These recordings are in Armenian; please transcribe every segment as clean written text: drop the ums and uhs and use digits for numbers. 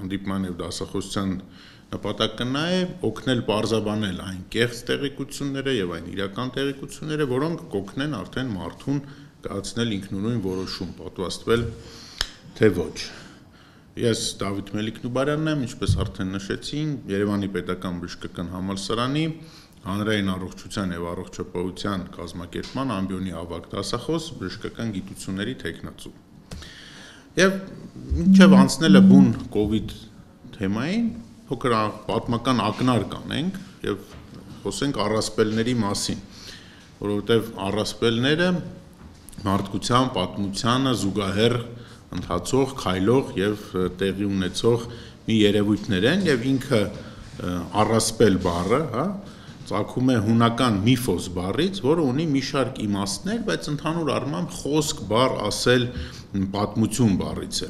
հանդիպման եւ դասախոսության նպատակն է օգնել բարձաբանել այն կեղծ տեղեկությունները եւ այն իրական տեղեկությունները, որոնք կօգնեն արդեն մարդուն կայացնել ինքնուրույն որոշում, պատվաստվել թե ոչ։ Ես Դավիթ Մելիք-Նուբարյանն եմ, ինչպես արդեն նշեցի, Երևանի Պետական բժշկական համալսարանի հանրային առողջության եւ առողջապահության կազմակերպման ամբիոնի ավագ դասախոս, բժշկական գիտությունների թեկնածու։ Եվ մինչև անցնելը բուն կոവിഡ് թեմային, փոքր պատմական ակնարկ անենք եւ խոսենք առասպելների մասին, որովհետեւ առասպելները մարդկության պատմությանը զուգահեռ ընթացող, քայլող եւ տեղի ունեցող մի երևույթներ են եւ ինքը առասպել բառը, ծագում է հունական միֆոս բառից, որը ունի մի շարք իմաստներ, բայց ընդհանուր առմամբ խոսք բառ ասել պատմություն բառից է։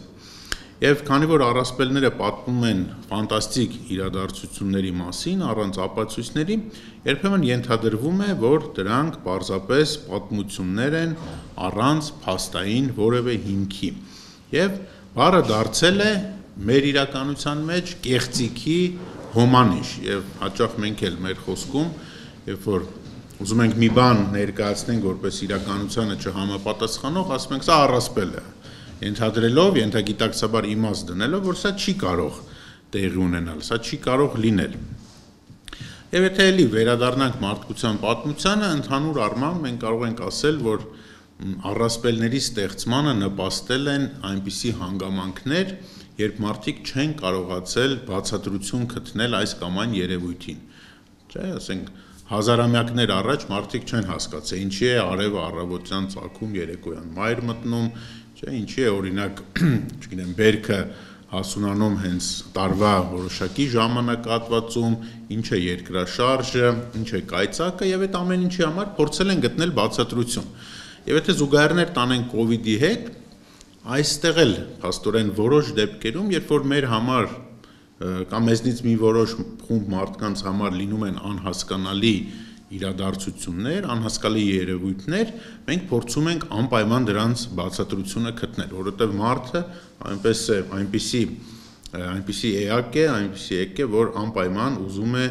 Եվ քանի որ առասպելները պատմում են ֆանտաստիկ իրադարձությունների մասին, առանց ապացույցների, երբեմն ենթադրվում է, որ դրանք պարզապես պատմություններ են առանց փաստային որևէ հիմքի։ Եվ բառը դարձել է մեր իրականության մեջ կեղծիքի հոմանիշ եւ հաճախ մենք էլ մեր խոսքում, երբ որ ուզում ենք մի բան ներկայացնենք որպես իրականությանը չհամապատասխանող, ասում ենք սա առասպել է, ենթադրելով, ենթագիտակցաբար իմաստ դնելով, որ սա չի կարող տեղի ունենալ, սա չի կարող լինել։ Եվ եթե էլի վերադառնանք մարդկության պատմությանը, ընդհանուր առմամբ մենք կարող ենք ասել, որ առասպելների ստեղծմանը նպաստել են այնպիսի հանգամանքներ, երբ մարդիկ չեն կարողացել բացատրություն գտնել այս կամ այն երևույթին։ Չէ, ասենք հազարամյակներ առաջ մարդիկ չեն հասկացել, ինչի է արևը առավոտյան ծագում, երեկոյան մայր մտնում, չէ, ինչի է օրինակ, չգիտեմ, բերքը հասունանում հենց տարվա որոշակի ժամանակահատվածում, ինչ է երկրաշարժը, ինչ է կայծակը եւ այդ ամեն ինչի համար փորձել են գտնել բացատրություն։ Եվ եթե զուգահեռներ տանենք կոവിഡի հետ, այստեղ էլ փաստորեն որոշ դեպքերում, երբ որ մեր համար կամ մեզնից մի որոշ խումբ մարդկանց համար լինում են անհասկանալի իրադարձություններ, անհասկանալի երևույթներ, մենք փորձում ենք անպայման դրանց բացատրությունը գտնել, որովհետև մարդը այնպիսի էակ է, որ անպայման ուզում է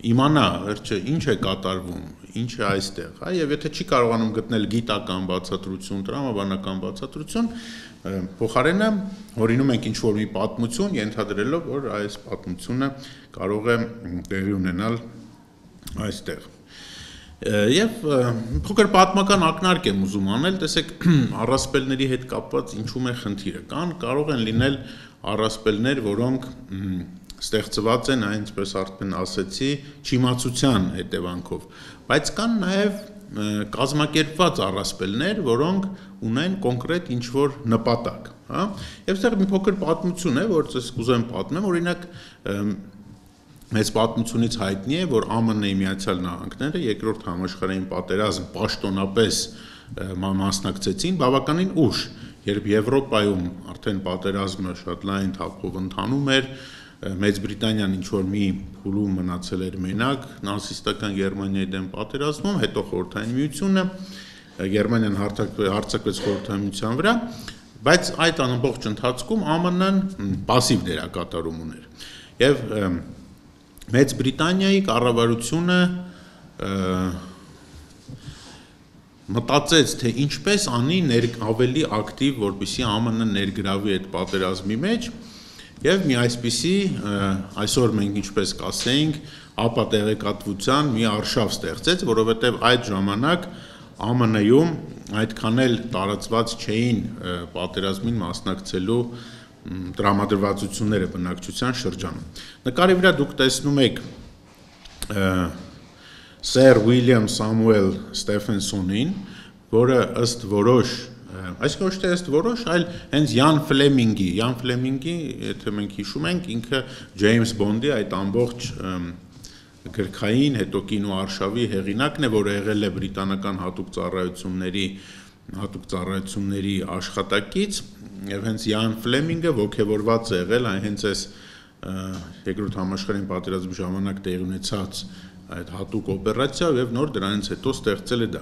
իմանա, վերջը ինչ է կատարվում, ինչ է այստեղ, եւ եթե չի կարողանում գտնել գիտական բացատրություն, տրամաբանական բացատրություն, փոխարենը հորինում ենք ինչ-որ մի պատմություն, ենթադրելով, որ այս պատմությունը կարող է տեղի ունենալ այստեղ։ Եվ փոքր պատմական ակնարկ եմ ուզում անել, տեսեք, առասպելների հետ կապված ինչու՞մ է խնդիրը, կարող են լինել առասպելներ, որոնք ստեղծված են, այնպես արդեն ասեցի, չիմացության հետևանքով, բայց կան նաև կազմակերպված առասպելներ, որոնք ունեն կոնկրետ ինչ-որ նպատակ, եւ այստեղ մի փոքր պատմություն է, որ ես կուզեմ պատմեմ, օրինակ մեծ պատմությունից հայտնի է, որ ԱՄՆ-ի Միացյալ Նահանգները երկրորդ համաշխարհային պատերազմ պաշտոնապես մասնակցեցին բավականին ուշ, երբ Եվրոպայում արդեն պատերազմը շատ լայն թափով ընթանում էր, Մեծ Բրիտանիան ինչ-որ մի փուլում մնացել էր մենակ նացիստական Գերմանիայի դեմ պատերազմում, հետո Խորհրդային Միությունը, Գերմանիան հարձակվեց Խորհրդային Միության վրա, բայց այդ ամբողջ ընթացքում ԱՄՆ-ն пассив դերակատարում ուներ։ Եվ Մեծ Բրիտանիայի կառավարությունը մտածեց, թե ինչպես անի ավելի ակտիվ, որպեսզի ԱՄՆ-ը ներգրավի այդ պատերազմի մեջ, եւ մի այսպիսի այսօր մենք ինչպես կասեինք, ապա տեղեկատվության մի արշավ ստեղծեց, որովհետեւ այդ ժամանակ ԱՄՆ-ում այդքան էլ տարածված չէին պատերազմին մասնակցելու տրամադրվածությունները բնակչության շրջանում։ Նկարի վրա դուք տեսնում եք Սեր Ուիլյամ Սամուել Ստեֆենսոնին, որը ըստ որոշ Այսինքն ոչ թե ըստ որոշ, այլ հենց Յան Ֆլեմինգի, եթե մենք հիշում ենք, ինքը Ջեյմս Բոնդի այդ ամբողջ գրքային, հետո կինոարշավի հեղինակն է, որը եղել է բրիտանական հատուկ ծառայությունների աշխատակից, եւ հենց Յան Ֆլեմինգը ոգևորված է եղել հենց այս երկրորդ համաշխարհային պատերազմի ժամանակ տեղի ունեցած այդ հատուկ օպերացիա եւ նոր դրանից հետո ստեղծել է դա։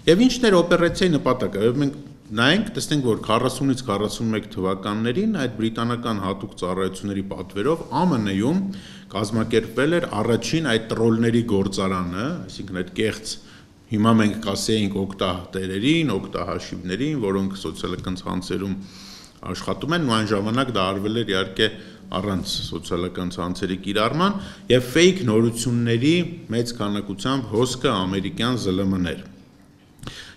Եվ ինչն էր օպերացիայի նպատակը։ Եվ մենք նայենք, տեսնենք, որ 40-ից 41 թվականներին այդ բրիտանական հատուկ ծառայությունների պատվերով ԱՄՆ-ում կազմակերպվել էր առաջին այդ տրոլների գործարանը, այսինքն այդ կեղծ հիմա մենք կասեինք օգտատերերին, օգտահաշիվներին, որոնք սոցիալական ցանցերում աշխատում են, ու այն ժամանակ դա արվել էր իհարկե առանց սոցիալական ցանցերի կիրառման եւ ֆեյք նորությունների մեծ քանակությամբ հոսքը ամերիկյան ԶԼՄ-ներ։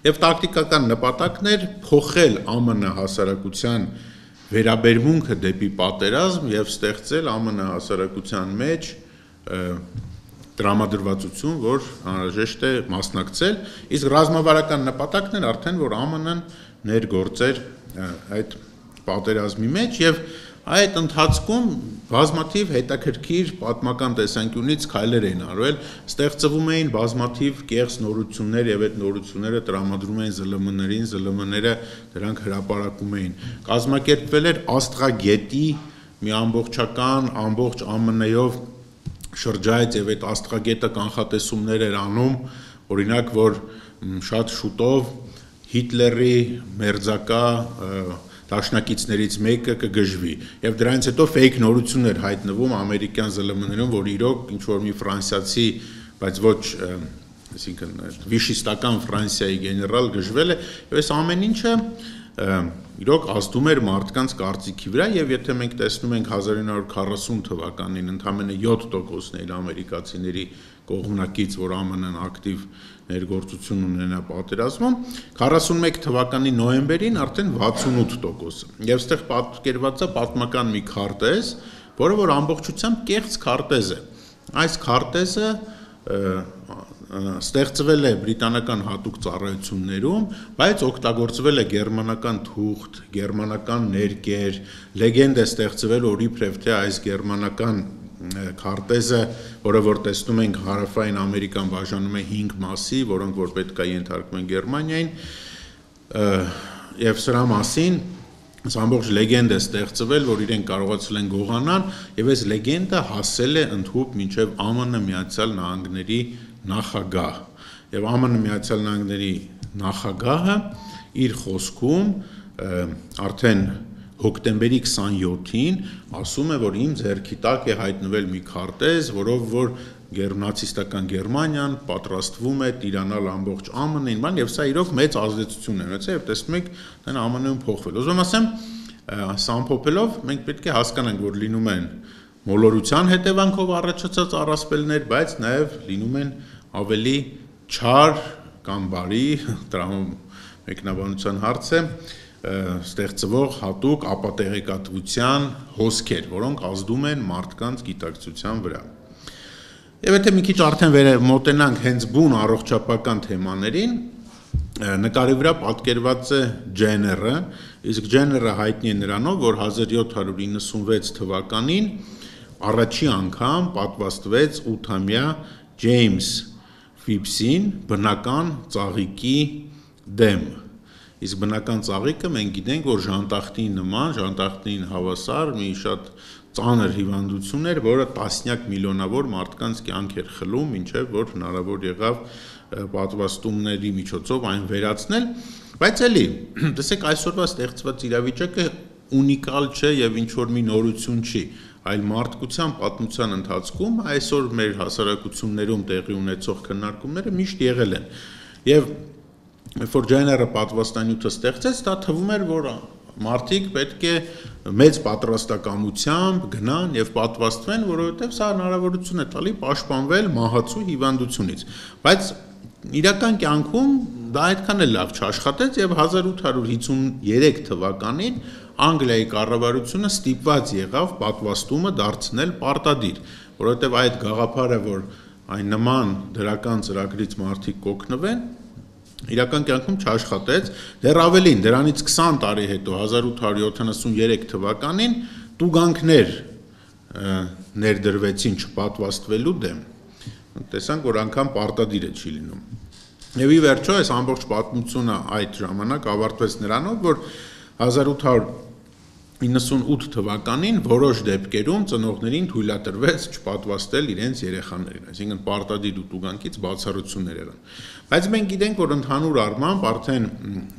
Եվ տակտիկական նպատակն էր փոխել ԱՄՆ հասարակության վերաբերմունքը դեպի պատերազմ եւ ստեղծել ԱՄՆ հասարակության մեջ տրամադրվածություն, որ անհրաժեշտ է մասնակցել, իսկ ռազմավարական նպատակն էր արդեն, որ ԱՄՆ-ն ներգործեր այդ պատերազմի մեջ եւ այդ ընթացքում բազմաթիվ հետաքրքիր պատմական տեսանկյունից քայլեր էին արվել, ստեղծվում էին բազմաթիվ կեղծ նորություններ եւ այդ նորությունները տրամադրում էին ԶԼՄ-ներին, ԶԼՄ-ները դրանք հրապարակում էին։ Կազմակերպվել էր Աստղագետի մի ամբողջական ամբողջ ԱՄՆ-ով շրջայց եւ այդ Աստղագետը կանխատեսումներ էր անում, օրինակ, որ շատ շուտով Հիտլերի մերձակա դաշնակիցներից մեկը կգժվի եւ դրանից հետո ֆեյք նորություններ հայտնվում ամերիկյան ԶԼՄ-ներում, որ իրոք ինչ որ մի ֆրանսիացի, բայց ոչ, այսինքն վիշիստական Ֆրանսիայի գեներալ գժվել է, եւ այս ամեն ինչը իրոք ազդում էր մարդկանց կարծիքի վրա եւ եթե մենք տեսնում ենք 1940 թվականին ընդամենը 7%-ն էր ամերիկացիների կողմնակից, որ ԱՄՆ-ն ակտիվ ներգործություն ունենա պատերազմում, 41 թվականի նոյեմբերին արդեն 68%։ Եվ այստեղ պատկերված է պատմական մի քարտեզ, որը որ ամբողջությամբ կեղծ քարտեզ է։ Այս քարտեզը ստեղծվել է բրիտանական հատուկ ծառայություններում, բայց օգտագործվել է գերմանական թուղթ, գերմանական ներկեր, լեգենդ է ստեղծվել, որ իբրև թե այս գերմանական քարտեզը, որը որ տեսնում ենք հարավային Ամերիկան բաժանում է 5 մասի, որոնք որ պետք է ենթարկվեն Գերմանիային, եւ սրա մասին ամբողջ լեգենդ է ստեղծվել, որ իրենք կարողացել են գողանալ, եւ այս լեգենդը հասել է ընդհուպ մինչեւ ԱՄՆ Միացյալ Նահանգների նախագահ։ Եվ ԱՄՆ Միացյալ Նահանգների նախագահը իր խոսքում արդեն հոկտեմբերի 27-ին ասում է, որ իմ ձեռքի տակ է հայտնվել մի քարտեզ, որով որ նացիստական Գերմանիան պատրաստվում է տիրանալ ամբողջ ԱՄՆ-ին, բան, եւ սա իրոք մեծ ազդեցություն է ունեցել, եւ տեսնում եք, դա ԱՄՆ-ում փոխվել։ Ուզում ասեմ, սա ամփոփելով մենք պետք է հասկանանք, որ լինում են մոլորության հետևանքով առաջացած առասպելներ, բայց նաեւ լինում են ավելի չար կամ բարի մեկնաբանության հարց է ստեղծվող հատուկ ապատեղեկատվության հոսքեր, որոնք ազդում են մարդկանց գիտակցության վրա։ Եվ եթե մի քիչ արդեն մոտենանք հենց բուն առողջապահական թեմաներին, նկարի վրա պատկերված է Ջեները, իսկ Ջեները հայտնի է նրանով, որ 1796 թվականին առաջի անգամ պատվաստվեց 8-ամյա Ջեյմս Ֆիփսին բնական ծաղիկի դեմ։ Իսկ բնական ծաղիկը մենք գիտենք, որ ժանտախտին նման, ժանտախտին հավասար մի շատ ծանր հիվանդություն էր, որը տասնյակ միլիոնավոր մարդկանց կյանք էր խլում, մինչև որ հնարավոր եղավ պատվաստումների միջոցով այն վերացնել, բայց էլի, տեսեք, այսօրվա ստեղծված իրավիճակը ունիկալ չէ եւ ինչ որ մի նորություն չի, այլ մարդկության պատմության ընթացքում այսօր մեր հասարակություններում տեղի ունեցող քննարկումները միշտ եղել են։ Եվ որ Ջեները պատվաստանյութը ստեղծեց, դա թվում էր, որ մարդիկ պետք է մեծ պատրաստակամությամբ գնան եւ պատվաստվեն, որովհետեւ սա հնարավորություն է տալի պաշտպանվել մահացու հիվանդությունից։ Բայց իրական կյանքում դա այդքան էլ լավ չաշխատեց եւ 1853 թվականին Անգլիայի կառավարությունը ստիպված եղավ պատվաստումը դարձնել պարտադիր, որովհետեւ այդ գաղափարը, որ այն նման դրական ծրագրից մարդիկ կօգնվեն, իրական կյանքում չաշխատեց, դեռ ավելին, դրանից 20 տարի հետո 1873 թվականին տուգանքներ ներդրվեցին չպատվաստվելու դեմ։ Տեսանք, որ անգամ պարտադիր է չի լինում։ Եվ ի վերջո այս ամբողջ պատմությունը այդ ժամանակ ավարտվեց նրանով, որ 98 թվականին որոշ դեպքերում ծնողներին թույլատրվեց չպատվաստել իրենց երեխաներին, այսինքն պարտադիր ուտուգանքից բացառություններ եղան։ Բայց մենք գիտենք, որ ընդհանուր առմամբ արդեն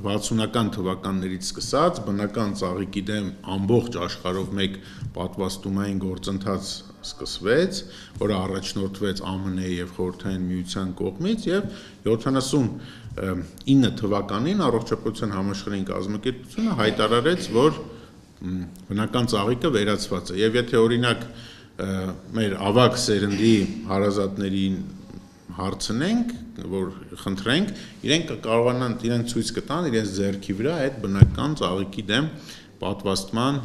60-ական թվականներից սկսած բնական ծաղիկի դեմ ամբողջ աշխարհով մեկ պատվաստումային գործընթաց սկսվեց, որը առաջնորդվեց ԱՄՆ-ի եւ Խորհրդային Միության կողմից եւ 79 թվականին Առողջապահության համաշխարհային կազմակերպությունը հայտարարեց, որ բնական ծաղիկը վերացված է եւ եթե օրինակ մեր ավագ սերնդի հարազատներին հարցնենք, որ խնդրենք, իրենք կարողանան իրենք ցույց կտան իրենց ձեռքի վրա այդ բնական ծաղիկի դեմ պատվաստման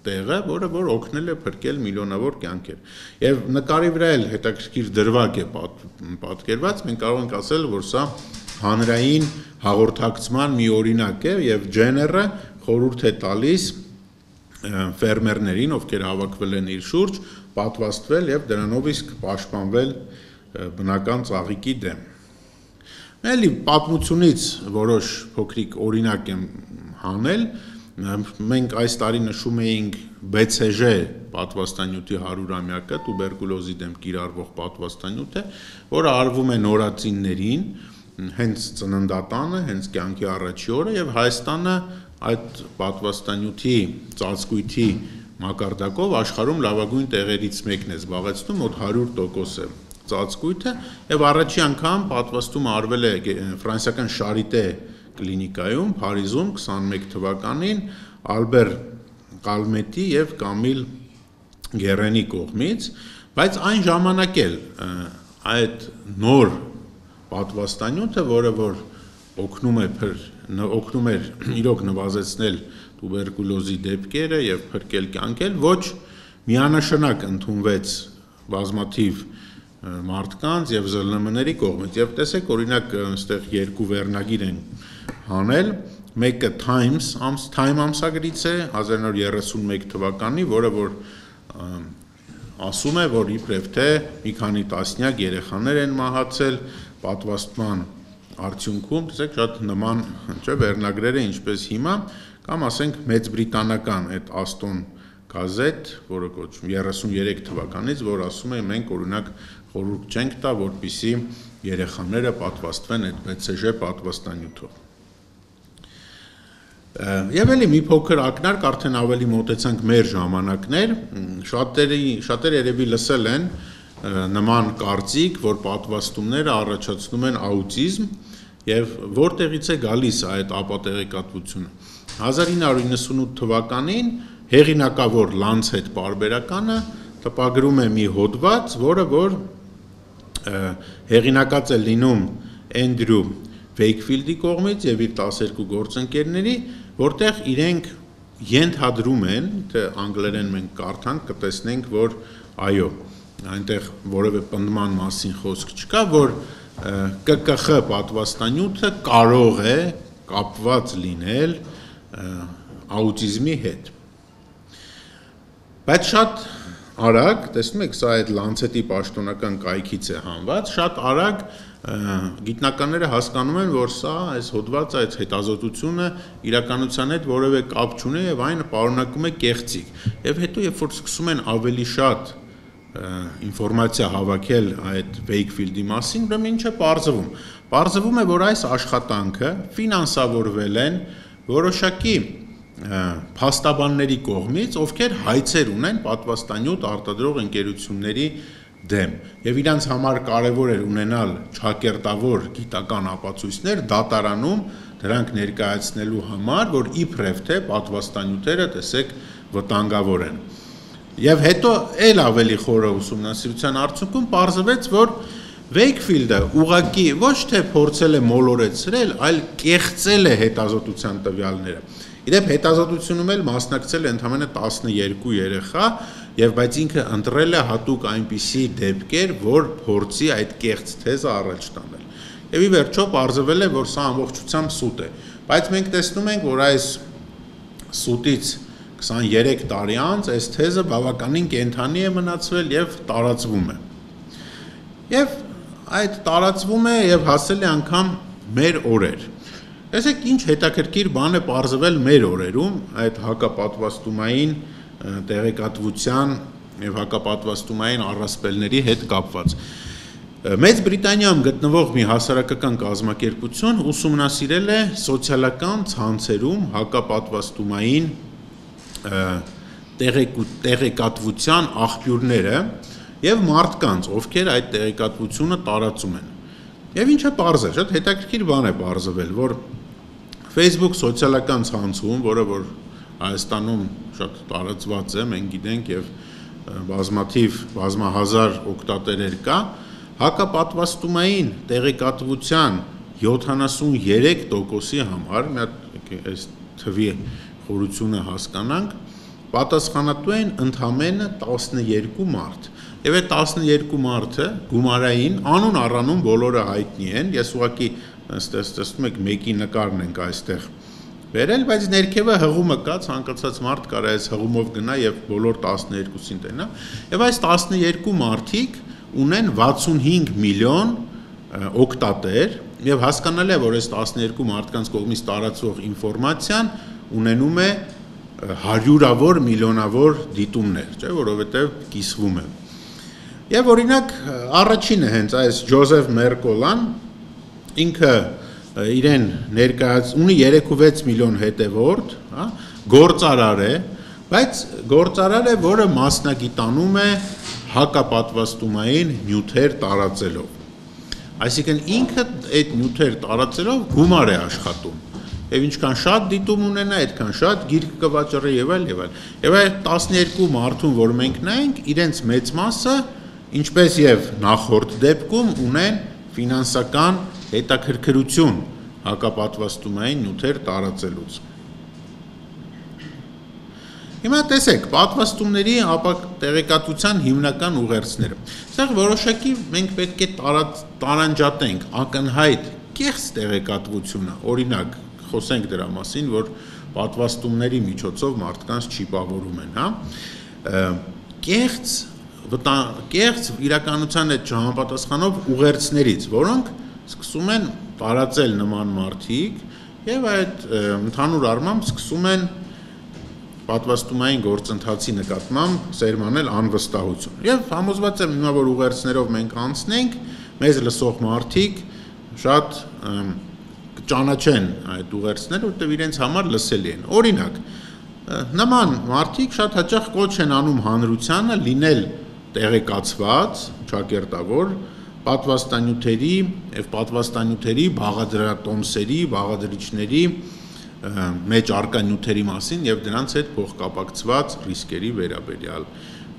տեղը, որը որ օգնել է փրկել միլիոնավոր կյանքեր։ Եվ նկարի վրա էլ հետաքրքիր դրվագ է պատկերված, մենք կարող ենք ասել, որ սա հանրային հաղորդակցման մի օրինակ է եւ Ջեները խորհուրդ է տալիս ֆերմերներին, ովքեր հավաքվել են իր շուրջ, պատվաստվել եւ դրանով իսկ պաշտպանվել բնական ծաղիկի դեմ։ Էլի պատմությունից որոշ փոքրիկ օրինակ եմ հանել, մենք այս տարի նշում էինք BCG պատվաստանյութի 100-ամյակը, տուբերկուլոզի դեմ կիրառվող պատվաստանյութը, որը արվում է նորածիններին, հենց ծննդատանը, հենց կյանքի առաջի օրը եւ Հայաստանը այդ պատվաստանյութի ծածկույթի մակարդակով աշխարհում լավագույն տեղերից մեկն է զբաղեցնում, մոտ 100% է ծածկույթը եւ առաջի անգամ պատվաստումը արվել է ֆրանսիական Շարիտե կլինիկայում Փարիզում 21 թվականին Ալբեր Կալմետի եւ Կամիլ Գերենի կողմից, բայց այն ժամանակ էլ այդ նոր պատվաստանյութը, որը որ օգնում էր իրոք նվազեցնել տուբերկուլոզի դեպքերը եւ փրկել կյանքեր, ոչ միանշանակ ընդունվեց բազմաթիվ մարդկանց եւ ԶԼՄ-ների կողմից։ Եվ տեսեք, օրինակ, այստեղ երկու վերնագիր են հանել, մեկը Time ամսագրից է 1931 թվականի, որը որ ասում է, որ իբրև թե մի քանի տասնյակ երեխաներ են մահացել պատվաստման արդյունքում, տեսեք, շատ նման վերնագրեր է ինչպես հիմա, կամ ասենք Մեծ Բրիտանական այդ Aston գազետ, որը կոչվում 33 թվականից, որ ասում է մենք օրինակ խորհուրդ չենք տա, որպեսզի երեխաները պատվաստվեն այդ BCG պատվաստանյութով։ Եվ էլի մի փոքր ակնարկ արդեն ավելի մոտեցանք մեր ժամանակներ, շատերը երևի լսել են նման կարծիք, որ պատվաստումները առաջացնում են աուտիզմ եւ որտեղից է գալիս այդ ապատեղեկատվությունը։ 1998 թվականին հեղինակավոր Lancet պարբերականը տպագրում է մի հոդված, որը որ հեղինակած է լինում Էնդրյու Վեյքֆիլդի կողմից եւ իր 12 գործընկերների, որտեղ իրենք ենթադրում են, թե անգլերեն մենք կարդանք, կտեսնենք, որ այո, այնտեղ որևէ պնդման մասին խոսք չկա, որ ԿԿԽ պատվաստանյութը կարող է կապված լինել աուտիզմի հետ։ Բայց շատ արագ, տեսնում եք, սա այդ Lancet-ի պաշտոնական կայքից է հանված, շատ արագ գիտնականները հասկանում են, որ սա այս հոդվածը, այս հետազոտությունը իրականության հետ որևէ կապ չունի եւ այն պարունակում է կեղծիք։ Եվ հետո երբ որ սկսում են ավելի շատ ինֆորմացիա հավաքել այդ Վեյքֆիլդի մասին, ուրեմն ինչ է պարզվում։ Պարզվում է, որ այս աշխատանքը ֆինանսավորվել են որոշակի փաստաբանների կողմից, ովքեր հայցեր ունեն պատվաստանյութ արտադրող ընկերությունների դեմ եւ իրանց համար կարեւոր էր ունենալ ճակերտավոր գիտական ապացույցներ դատարանում դրանք ներկայացնելու համար, որ իբրև թե պատվաստանյութերը տեսեք վտանգավոր են։ Եվ հետո էլ ավելի խորը ուսումնասիրության արդյունքում պարզվեց, որ Վեյքֆիլդը ուղղակի ոչ թե փորձել է մոլորեցրել, այլ կեղծել է հետազոտության տվյալները։ Իդեպ հետազոտությունում էլ մասնակցել է ընդամենը 12 երեխա, եւ բայց ինքը ընտրել է հատուկ այնպիսի դեպքեր, որ փորձի այդ կեղծ թեզը առաջ տանել։ Եվ ի վերջո պարզվել է, որ սա ամբողջությամբ սուտ է։ Բայց մենք տեսնում ենք, որ այս սուտից 23 տարի անց այս թեզը բավականին կենդանի է մնացվել եւ տարածվում է։ Եվ այդ տարածվում է եւ հասել է անգամ մեր օրեր։ Տեսեք, ինչ հետաքրքիր բան է պարզվել մեր օրերում այդ հակապատվաստումային տեղեկատվության եւ հակապատվաստումային առասպելների հետ կապված։ Մեծ Բրիտանիայում գտնվող մի հասարակական կազմակերպություն ուսումնասիրել է սոցիալական ցանցերում հակապատվաստումային տեղեկատվության աղբյուրները եւ մարդկանց, ովքեր այդ տեղեկատվությունը տարածում են։ Եվ ինչը պարզ է, շատ հետաքրքիր բան է պարզվել, որ Facebook սոցիալական ցանցում, որը որ Հայաստանում շատ տարածված է, մենք գիտենք եւ բազմահազար օգտատերեր կա, հակապատվաստումային տեղեկատվության 73%-ի համար, մի հատ այս թվի խորությունը հասկանանք, պատասխանատու են ընդամենը 12 մարդ։ Եվ այդ 12 մարդը գումարային անուն առանուն բոլորը հայտնի են, ես ուղղակի տեսնում եք մեկի նկարն ենք այստեղ վերել, բայց ներքևը հղումը կա, ցանկացած մարդ կարող է այս հղումով գնա եւ բոլոր 12-ին տենա։ Եվ այս 12 մարդիկ ունեն 65 միլիոն օգտատեր եւ հասկանալի է, որ այս 12 մարդկանց կողմից տարածվող ինֆորմացիան ունենում է հարյուրավոր միլիոնավոր դիտումներ, չէ՞, որովհետեւ կիսվում է։ Եվ օրինակ առաջինը հենց այս Ջոզեֆ Մերկոլան ինքը իրեն ունի 3.6 միլիոն հետևորդ, հա, գործարար է, բայց գործարար է, որը մասնագիտանում է հակապատվաստումային նյութեր տարածելով։ Այսինքն ինքը այդ նյութեր տարածելով գումար է աշխատում։ Եվ ինչքան շատ դիտում ունենա, այդքան շատ գիրք կվաճառի եւ այլ եւ այլ։ Եվ այդ 12 մարդուն, որ մենք նայենք, իրենց մեծ մասը, ինչպես եւ նախորդ դեպքում, ունեն ֆինանսական հետաքրքրություն հակապատվաստումային նյութեր տարածելուց։ Հիմա տեսեք, պատվաստումների տեղեկատվության հիմնական ուղերձները։ Սա որոշակի մենք պետք է տարանջատենք ակնհայտ կեղծ տեղեկատվությունը, օրինակ խոսենք դրա մասին, որ պատվաստումների միջոցով մարդկանց չիպավորում են, հա։ Կեղծ իրականության այդ չհամապատասխանող ուղերձներից, որոնք սկսում են տարածել նման մարդիկ եւ այդ ընդհանուր առմամբ սկսում են պատվաստումային գործընթացի նկատմամբ սերմանել անվստահություն։ Եվ համոզված եմ հիմա, որ ուղերձներով մենք անցնենք, մեզ լսող մարդիկ շատ ճանաչեն այդ ուղերձները, որտեղ իրենց համար լսելի են։ Օրինակ, նման մարդիկ շատ հաճախ կոչ են անում հանրությանը լինել տեղեկացված, ճակերտավոր պատվաստանյութերի եւ պատվաստանյութերի բաղադրատոմսերի, բաղադրիչների մեջ առկա նյութերի մասին եւ դրանց հետ փոխկապակցված ռիսկերի վերաբերյալ։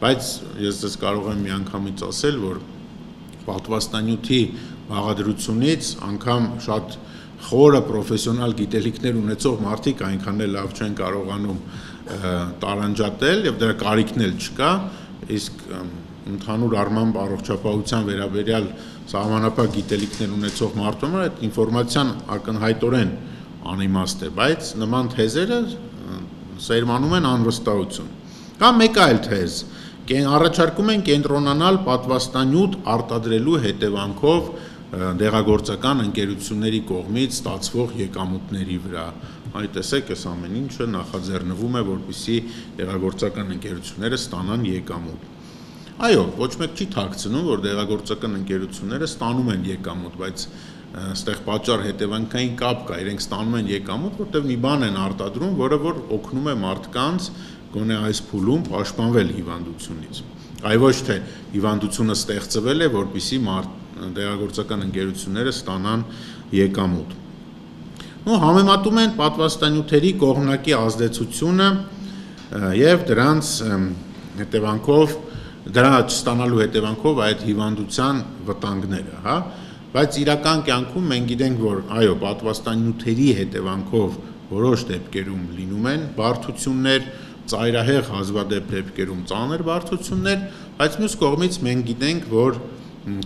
Բայց ես դες կարող եմ միանգամից ասել, որ պատվաստանյութի բաղադրությունից անգամ շատ խորը պրոֆեսիոնալ գիտելիքներ ունեցող մարդիկ այնքան էլ լավ չեն կարողանում տարանջատել եւ դրա կարիքն էլ չկա, իսկ ընդհանուր առմամբ առողջապահության վերաբերյալ սահմանափակ գիտելիքներ ունեցող մարդու համար այդ ինֆորմացիան ակնհայտորեն անիմաստ է, բայց նման թեզերը սերմանում են անվստահություն։ Կամ մեկ այլ թեզ, առաջարկում են կենտրոնանալ պատվաստանյութ արտադրելու հետևանքով դեղագործական ընկերությունների կողմից ստացվող եկամուտների վրա։ Այ տեսեք, այս ամեն ինչը նախաձեռնվում է, որպեսզի դեղագործական ընկերությունները ստանան եկամուտ։ Այո, ոչ մեկ չի թաքցնում, որ դեղագործական ընկերությունները ստանում են եկամուտ, բայց այստեղ պատճառ հետևանքային կապ կա, իրենք ստանում են եկամուտ, որտեղ մի բան են արտադրում, որը որ օգնում է մարդկանց գոնե այս փուլում պաշտպանվել հիվանդությունից։ Այ ոչ թե հիվանդությունը ստեղծվել է, որպեսզի դեղագործական ընկերությունները ստանան եկամուտ։ Ու համեմատում են պատվաստանյութերի կողմնակի ազդեցությունը եւ դրանց հետևանքով դրա չստանալու հետևանքով այդ հիվանդության վտանգները, հա, բայց իրական կյանքում մենք գիտենք, որ այո, պատվաստանյութերի հետևանքով որոշ դեպքերում լինում են բարդություններ, ծայրահեղ հազվադեպ դեպքերում ծանր բարդություններ, բայց մյուս կողմից մենք գիտենք, որ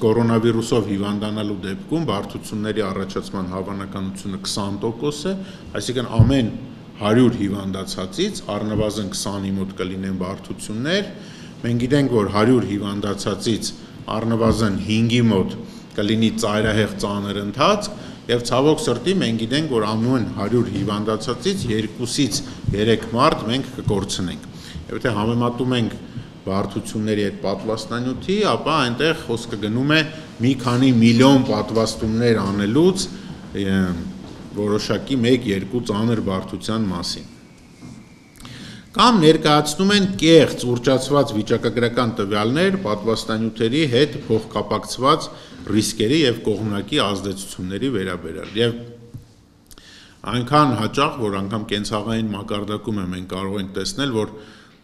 կորոնավիրուսով հիվանդանալու դեպքում բարդությունների առաջացման հավանականությունը 20% է, այսինքն ամեն 100 հիվանդացածից առնվազն 20-ի մոտ կլինեն բարդություններ, մենք գիտենք, որ 100 հիվանդացածից առնվազն 5-ի մոտ կլինի ծայրահեղ ծանր ընթացք եւ ցավոք սրտի մենք գիտենք, որ ամեն 100 հիվանդացածից 2-ից 3 մարդ մենք կկորցնենք։ Եվ եթե համեմատում ենք բարդությունների այդ պատվաստանյութի, ապա այնտեղ խոսքը գնում է մի քանի միլիոն պատվաստումներ անելուց որոշակի 1-2 ծանր բարդության մասին։ Կամ ներկայացնում են կեղծ ուռճացված վիճակագրական տվյալներ պատվաստանյութերի հետ փոխկապակցված ռիսկերի եւ կողմնակի ազդեցությունների վերաբերյալ։ Եվ այնքան հաճախ, որ անգամ կենցաղային մակարդակում մենք կարող ենք տեսնել, որ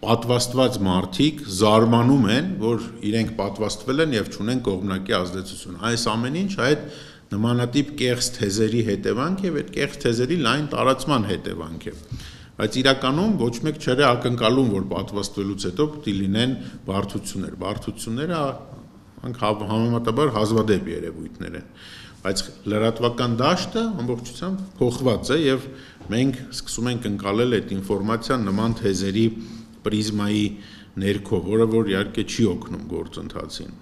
պատվաստված մարդիկ զարմանում են, որ իրենք պատվաստվել են եւ չունեն կողմնակի ազդեցություն։ Այս ամեն ինչ այդ նմանատիպ կեղծ թեզերի հետևանք եւ այդ կեղծ թեզերի լայն տարածման հետևանք է։ Բայց իրականում ոչ մեկ չէ ակնկալում, որ պատվաստվելուց հետո պիտի լինեն բարդություններ։ Բարդությունները համեմատաբար հազվադեպ երևույթներ են։ Բայց լրատվական դաշտը ամբողջությամբ փոխված է եւ մենք սկսում ենք ընկալել այդ ինֆորմացիան նման թեզերի պրիզմայի ներքո, որը որ իհարկե չի օգնում գործընթացին։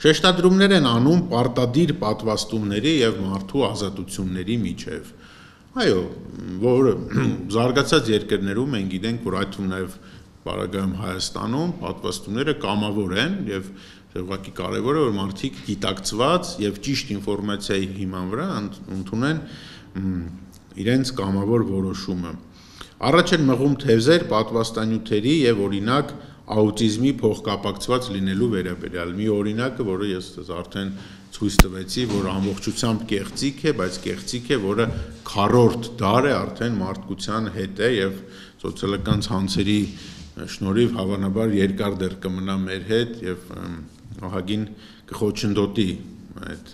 Շեշտադրումներ են անում պարտադիր պատվաստումների եւ մարդու ազատությունների միջև։ Այո, որ զարգացած երկրներում մենք գիտենք, որ այդ թվում նաև Պարագայում Հայաստանում պատվաստումները կամավոր են եւ ուղղակի կարեւոր է որ մարդիկ գիտակցված եւ ճիշտ ինֆորմացիայի հիման վրա ընդունեն իրենց կամավոր որոշումը։ Առաջ են մղում թեզեր պատվաստանյութերի եւ օրինակ աուտիզմի փոխկապակցված լինելու վերաբերյալ։ Մի օրինակը, որը ես արդեն ցույց տվեցի, որ ամբողջությամբ կեղծիք է, բայց կեղծիք է, որը քառորդ դար է արդեն մարդկության հետ է եւ սոցիալական ցանցերի շնորհիվ հավանաբար երկար դեռ կմնա մեր հետ եւ ահագին կխոչընդոտի այդ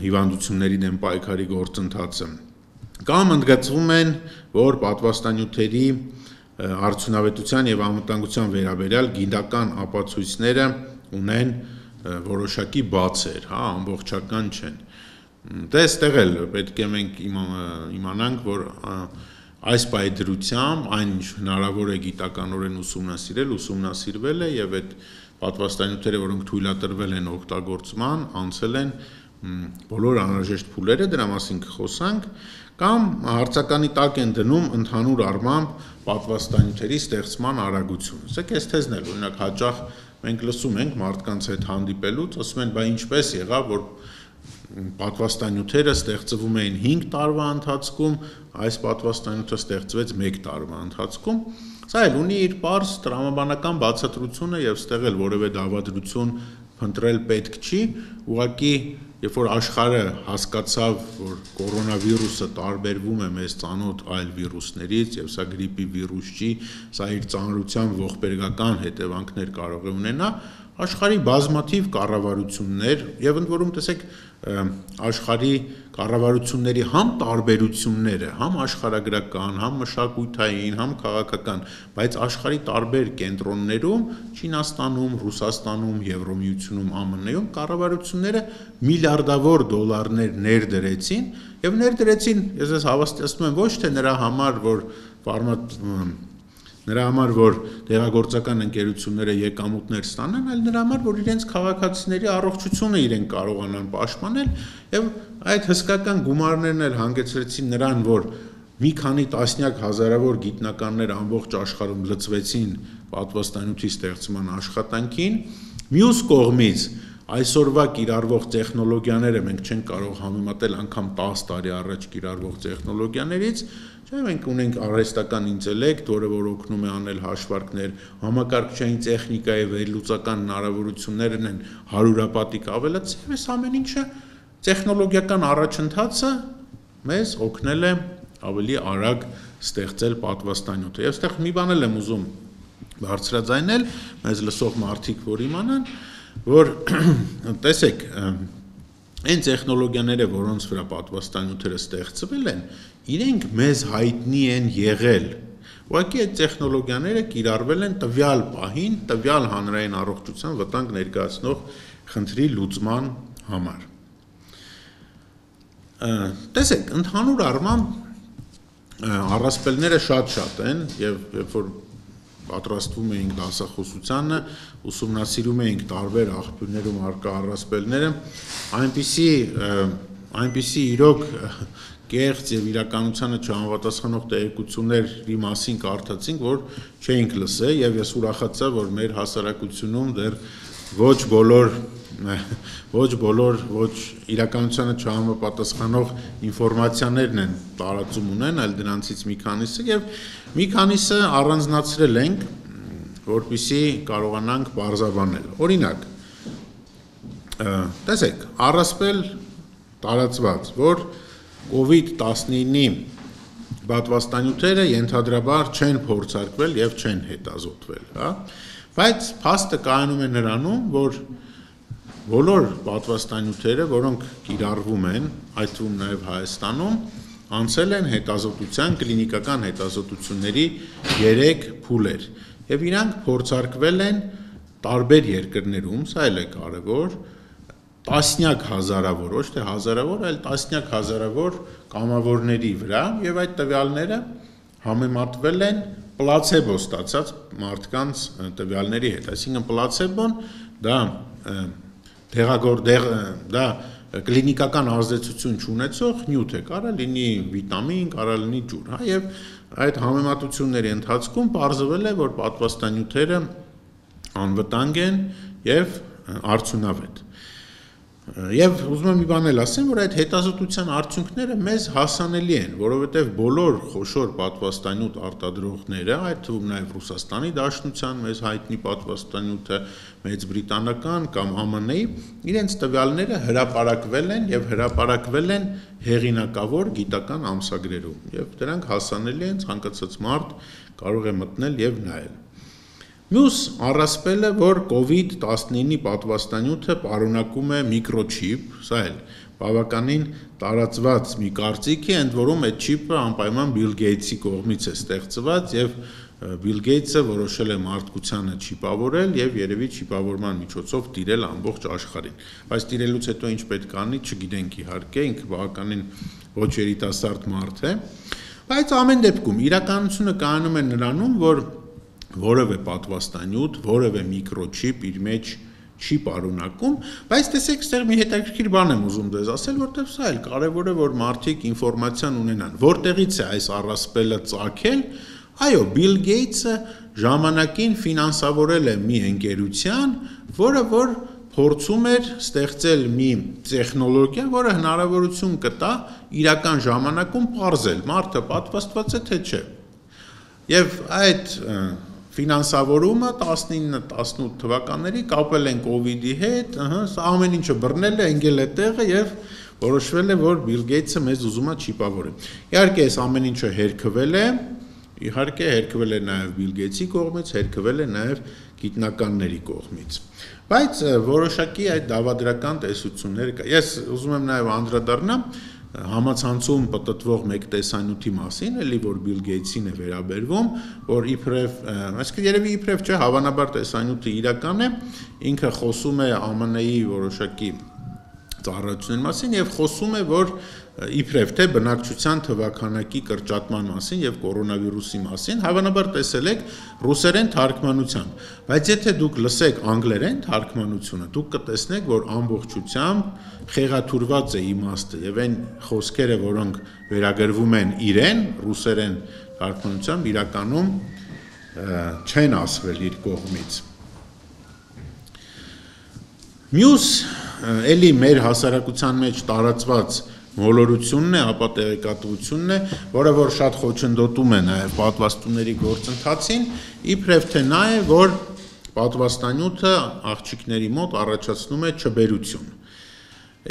հիվանդությունների դեմ պայքարի գործընթացը։ Կամ ընդգծվում են, որ պատվաստանյութերի արդյունավետության եւ անվտանգության վերաբերյալ գիտական ապացույցները ունեն որոշակի բացեր, հա, ամբողջական չեն։ Դե այստեղ էլ պետք է մենք իմանանք, որ այս պայդրությամբ այն ինչ հնարավոր է գիտականորեն ուսումնասիրվել է եւ այդ պատվաստանյութերը, որոնք թույլատրվել են օգտագործման, անցել են բոլոր անհրաժեշտ փուլերը, դրա մասին կխոսանք, կամ հարցականի տակ են դնում ընդհանուր առմամբ պատվաստանյութերի ստեղծման արագությունը։ Սա այս թեզն էլ, օրինակ հաճախ մենք լսում ենք մարդկանց հետ հանդիպելուց, ասում են, բա ինչպես եղավ, որ պատվաստանյութերը ստեղծվում էին 5 տարվա ընթացքում, այս պատվաստանյութը ստեղծվեց 1 տարվա ընթացքում։ Սա էլ ունի իր պարզ տրամաբանական բացատրությունը եւ ստեղ էլ որևէ դավադրություն փնտրել պետք չի, ուղղակի երբ որ աշխարհը հասկացավ, որ կորոնավիրուսը տարբերվում է մեզ ծանոթ այլ վիրուսներից եւ սա գրիպի վիրուս չի, սա իր ծանրության ողբերգական հետևանքներ կարող է ունենա, աշխարհի բազմաթիվ կառավարություններ եւ ընդ որում տեսեք աշխարհի կառավարությունների համ տարբերությունները, համ աշխարհագրական, համ մշակութային, համ քաղաքական, բայց աշխարհի տարբեր կենտրոններում, Չինաստանում, Ռուսաստանում, Եվրոմիությունում, ԱՄՆ-ում կառավարությունները միլիարդավոր դոլարներ ներդրեցին եւ ներդրեցին, ես ես հավաստիացնում եմ ոչ թե նրա համար, որ դեղագործական ընկերությունները եկամուտներ ստանան, այլ նրա համար, որ իրենց քաղաքացիների առողջությունը իրենք կարողանան պաշտպանել եւ այդ հսկական գումարներն էլ հանգեցրեցին նրան, որ մի քանի տասնյակ հազարավոր գիտնականներ ամբողջ աշխարհում լծվեցին պատվաստանյութի ստեղծման աշխատանքին, մյուս կողմից այսօրվա կիրառվող տեխնոլոգիաները մենք չենք կարող համեմատել անգամ 10 տարի առաջ կիրառվող տեխնոլոգիաներից, չէ՞ մենք ունենք արհեստական ինտելեկտ, որը որ օգնում է անել հաշվարկներ, համակարգչային տեխնիկայի վերլուծական հնարավորություններն են հարյուրապատիկ ավելացել, այս ամեն ինչը տեխնոլոգիական առաջընթացը մեզ օգնել է ավելի արագ ստեղծել պատվաստանյութը։ Եվ այստեղ մի բան եմ ուզում բարձրաձայնել, մեզ լսող մարդիկ որ իմանան, որ տեսեք, այն տեխնոլոգիաները, որոնց վրա պատվաստանյութերը ստեղծվել են, իրենք մեզ հայտնի են եղել։ Ուղղակի այդ տեխնոլոգիաները կիրառվել են տվյալ պահին, տվյալ հանրային առողջության վտանգ ներկայացնող խնդրի լուծման համար։ Տեսեք, ընդհանուր առմամբ առասպելները շատ են եւ երբ որ պատրաստվում էինք դասախոսությանը, ուսումնասիրում էինք տարբեր աղբյուրներում առկա առասպելները, այնպիսի այնպիսի իրոք կեղծ եւ իրականությանը չհամապատասխանող տեղեկությունների մասին կարդացինք, որ չէինք լսել, եւ ես ուրախացա, որ մեր հասարակությունում դեռ ոչ բոլոր իրականությանը չհամապատասխանող ինֆորմացիաներն են տարածում ունեն, այլ դրանցից մի քանիսը եւ մի քանիսը առանձնացրել ենք, որպեսզի կարողանանք բարձրաբանել։ Օրինակ, տեսեք, առասպել տարածված, որ COVID-19-ի պատվաստանյութերը ենթադրաբար չեն փորձարկվել եւ չեն հետազոտվել, հա, բայց փաստը կայանում է նրանում, որ բոլոր պատվաստանյութերը, որոնք կիրառվում են, այդ թվում նաեւ Հայաստանում, անցել են հետազոտության, կլինիկական հետազոտությունների 3 փուլեր եւ իրանք փորձարկվել են տարբեր երկրներում, սա էլ է կարեւոր, տասնյակ հազարավոր, ոչ թե հազարավոր, այլ տասնյակ հազարավոր կամավորների վրա եւ այդ տվյալները համեմատվել են պլացեբո ստացած մարդկանց տվյալների հետ, այսինքն պլացեբոն դա դա կլինիկական ազդեցություն չունեցող նյութ է, կարա լինի վիտամին, կարա լինի ջուր, հա, եւ այդ համեմատությունների ընթացքում պարզվել է, որ պատվաստանյութերը անվտանգ են եւ արդյունավետ։ Եվ ուզում եմ մի բան էլ ասեմ, որ այդ հետազոտության արդյունքները մեզ հասանելի են, որովհետև բոլոր խոշոր պատվաստանյութ արտադրողները, այդ թվում նաև Ռուսաստանի Դաշնության մեզ հայտնի պատվաստանյութը, Մեծ Բրիտանական կամ ԱՄՆ-ի, իրենց տվյալները հրապարակվել են եւ հրապարակվել են հեղինակավոր գիտական ամսագրերում, եւ դրանք հասանելի են, ցանկացած մարդ կարող է մտնել եւ նայել։ Մյուս առասպելը, որ COVID-19-ի պատվաստանյութը պարունակում է միկրոչիպ, սա էլ բավականին տարածված մի կարծիք է, ընդ որում այդ չիպը անպայման Բիլ Գեյթսի կողմից է ստեղծված եւ Բիլ Գեյթսը որոշել է մարդկությանը չիպավորել եւ երևի չիպավորման միջոցով տիրել ամբողջ աշխարհին։ Բայց տիրելուց հետո ինչ պետք է անի, չգիտենք իհարկե, ինքը բավականին ոչ երիտասարդ մարդ է, բայց ամեն դեպքում իրականությունը կայանում է նրանում, որ որևէ պատվաստանյութ, որևէ միկրոչիպ իր մեջ չի պարունակում, բայց տեսեք, այստեղ մի հետաքրքիր բան եմ ուզում դες ասել, որտեղ սա էլ կարևոր է, որ մարդիկ ինֆորմացիան ունենան։ Որտեղից է այս առասպելը ծագել, այո, Բիլ Գեյթսը ժամանակին ֆինանսավորել է մի ընկերության, որը որ փորձում էր ստեղծել մի տեխնոլոգիա, որը հնարավորություն կտա իրական ժամանակում պարզել, մարդը պատվաստված է թե չէ։ Եվ այդ ֆինանսավորումը 19-18 թվականների կապել են COVID-ի հետ, սա ամեն ինչը բռնել է, ընկել է տեղը եւ որոշվել է, որ Բիլ Գեյթսը մեզ ուզում է չիպավորել։ Իհարկե, այս ամեն ինչը հերքվել է, իհարկե հերքվել է նաեւ Բիլ Գեյթսի կողմից, հերքվել է նաեւ գիտնականների կողմից։ Բայց որոշակի այդ դավադրական տեսություններ կա։ Ես ուզում եմ նաեւ անդրադառնամ համացանցում պատտվող մեկ տեսանյութի մասին, էլի որ Բիլ Գեյթսին է վերաբերվում, որ իբրև, այսինքն երևի իբրև չէ, հավանաբար տեսանյութը իրական է, ինքը խոսում է ԱՄՆ-ի որոշակի ծառայությունների մասին եւ խոսում է, որ իբրև թե բնակչության թվաքանակի կրճատման մասին եւ կորոնավիրուսի մասին, հավանաբար տեսել եք ռուսերեն թարգմանությամբ, բայց եթե դուք լսեք անգլերեն թարգմանությունը, դուք կտեսնեք, որ ամբողջությամբ խեղաթուրված է իմաստը եւ այն խոսքերը, որոնք վերագրվում են իրեն, ռուսերեն թարգմանությամբ իրականում չեն ասվել իր կողմից։ Մյուս էլի մեր հասարակության մեջ տարածված մոլորությունն է, ապա տեղեկատվությունն է, որը որ շատ խոչընդոտում է նաև պատվաստումների գործընթացին, իբրև թե նա է, որ պատվաստանյութը աղջիկների մոտ առաջացնում է չբերություն։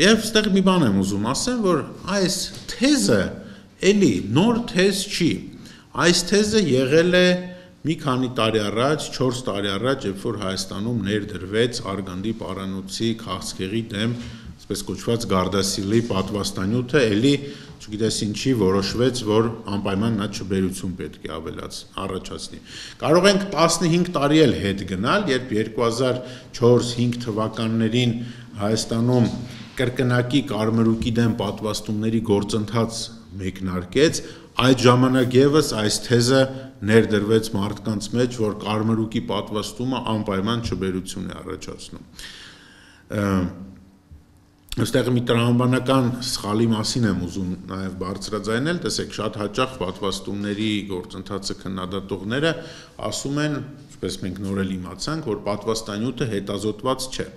Եվ այստեղ մի բան եմ ուզում ասեմ, որ այս թեզը էլի նոր թեզ չի։ Այս թեզը եղել է մի քանի տարի առաջ, 4 տարի առաջ, երբ որ Հայաստանում ներդրվեց Արգանդի պարանոցի քաղցկեղի դեմ այսպես կոչված Գարդասիլի պատվաստանյութը, էլի չգիտես ինչի որոշվեց, որ անպայման նա չբերություն պետք է առաջացնի։ Կարող ենք 15 տարի էլ հետ գնալ, երբ 2004-5 թվականներին Հայաստանում կրկնակի կարմրուկի դեմ պատվաստումների գործընթաց մեկնարկեց, այդ ժամանակ եւս այս թեզը ներդրվեց մարդկանց մեջ, որ կարմրուկի պատվաստումը անպայման չբերություն է առաջացնում։ Այստեղ մի տրամաբանական սխալի մասին եմ ուզում նաև բարձրաձայնել, տեսեք, շատ հաճախ պատվաստումների գործընթացը քննադատողները ասում են, ինչպես մենք նոր էլ իմացանք, որ պատվաստանյութը հետազոտված չէ։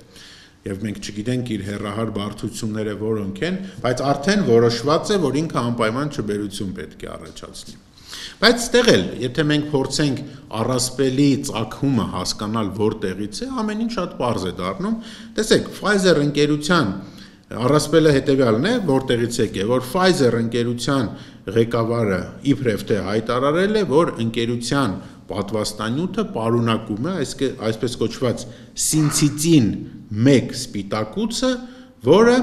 Եվ մենք չգիտենք իր հեռահար բարդությունները որոնք են, բայց արդեն որոշված է, որ ինքը անպայման չբերություն պետք է առաջացնի։ Բայց ստեղ էլ, եթե մենք փորձենք առասպելի ծագումը հասկանալ որտեղից է, ամեն ինչ շատ պարզ է դառնում։ Տեսեք, Pfizer ընկերության առասպելը հետևյալն է, որտեղից եկե, որ Pfizer ընկերության ղեկավարը իբրև թե հայտարարել է, որ ընկերության պատվաստանյութը պարունակում է այսպես կոչված սինցիցին 1 սպիտակուցը, որը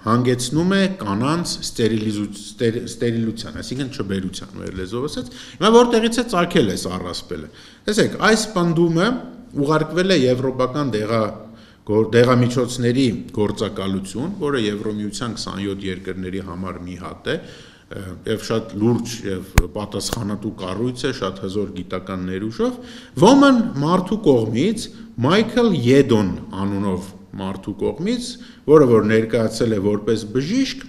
հանգեցնում է կանանց ստերիլության, այսինքն չբերության, մեր լեզվով ասած, հիմա որտեղից է ծագել այս առասպելը։ Տեսեք, այս պնդումը ուղարկվել է եվրոպական դեղամիջոցների գործակալություն, որը Եվրոմիության 27 երկրների համար մի հատ է, եւ շատ լուրջ եւ պատասխանատու կառույց է, շատ հզոր գիտական ներուժով, ոմն մարդու կողմից Մայքլ Յեդոն անունով մարդու կողմից, որը որ ներկայացել է որպես բժիշկ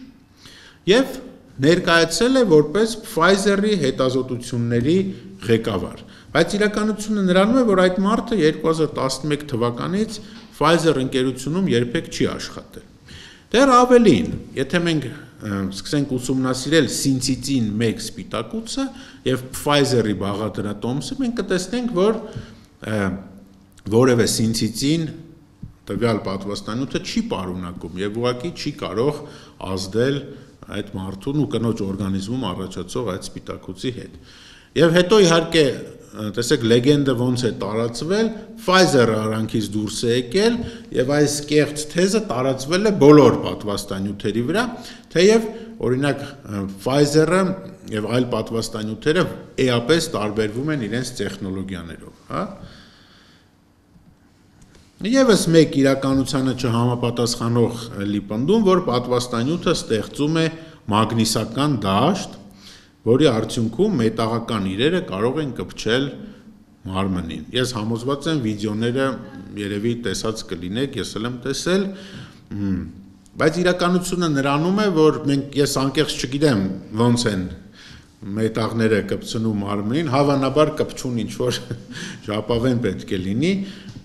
եւ ներկայացել է որպես Pfizer-ի հետազոտությունների ղեկավար։ Բայց իրականությունը նրանում է, որ այդ մարդը 2011 թվականից Pfizer ընկերությունում երբեք չի աշխատել։ Դեռ ավելին, եթե մենք սկսենք ուսումնասիրել սինցիցին 1 սպիտակուցը եւ Pfizer-ի բաղադրատոմսը, մենք կտեսնենք, որ որևէ սինցիցին տվյալ պատվաստանյութը չի պարունակում եւ ուղղակի չի կարող ազդել այդ մարդուն ու կնոջ օրգանիզմում առաջացող այդ սպիտակուցի հետ։ Եվ հետո իհարկե, տեսեք, լեգենդը ոնց է տարածվել, Pfizer-ը արանքից դուրս է եկել եւ այս կեղծ թեզը տարածվել է բոլոր պատվաստանյութերի վրա, թեև օրինակ Pfizer-ը եւ այլ պատվաստանյութերը էապես տարբերվում են իրենց տեխնոլոգիաներով, հա։ Եվս մեկ իրականությանը չհամապատասխանող լիպնդում, որ պատվաստանյութը ստեղծում է մագնիսական դաշտ, որի արդյունքում մետաղական իրերը կարող են կպչել մարմնին։ Ես համոզված եմ վիդեոները երևի տեսած կլինեք, ես էլ եմ տեսել, բայց իրականությունը նրանում է, որ ես անկեղծ չգիտեմ ոնց են մետաղները կպցնում մարմնին, հավանաբար կպչուն ինչ-որ ժապավեն պետք է լինի,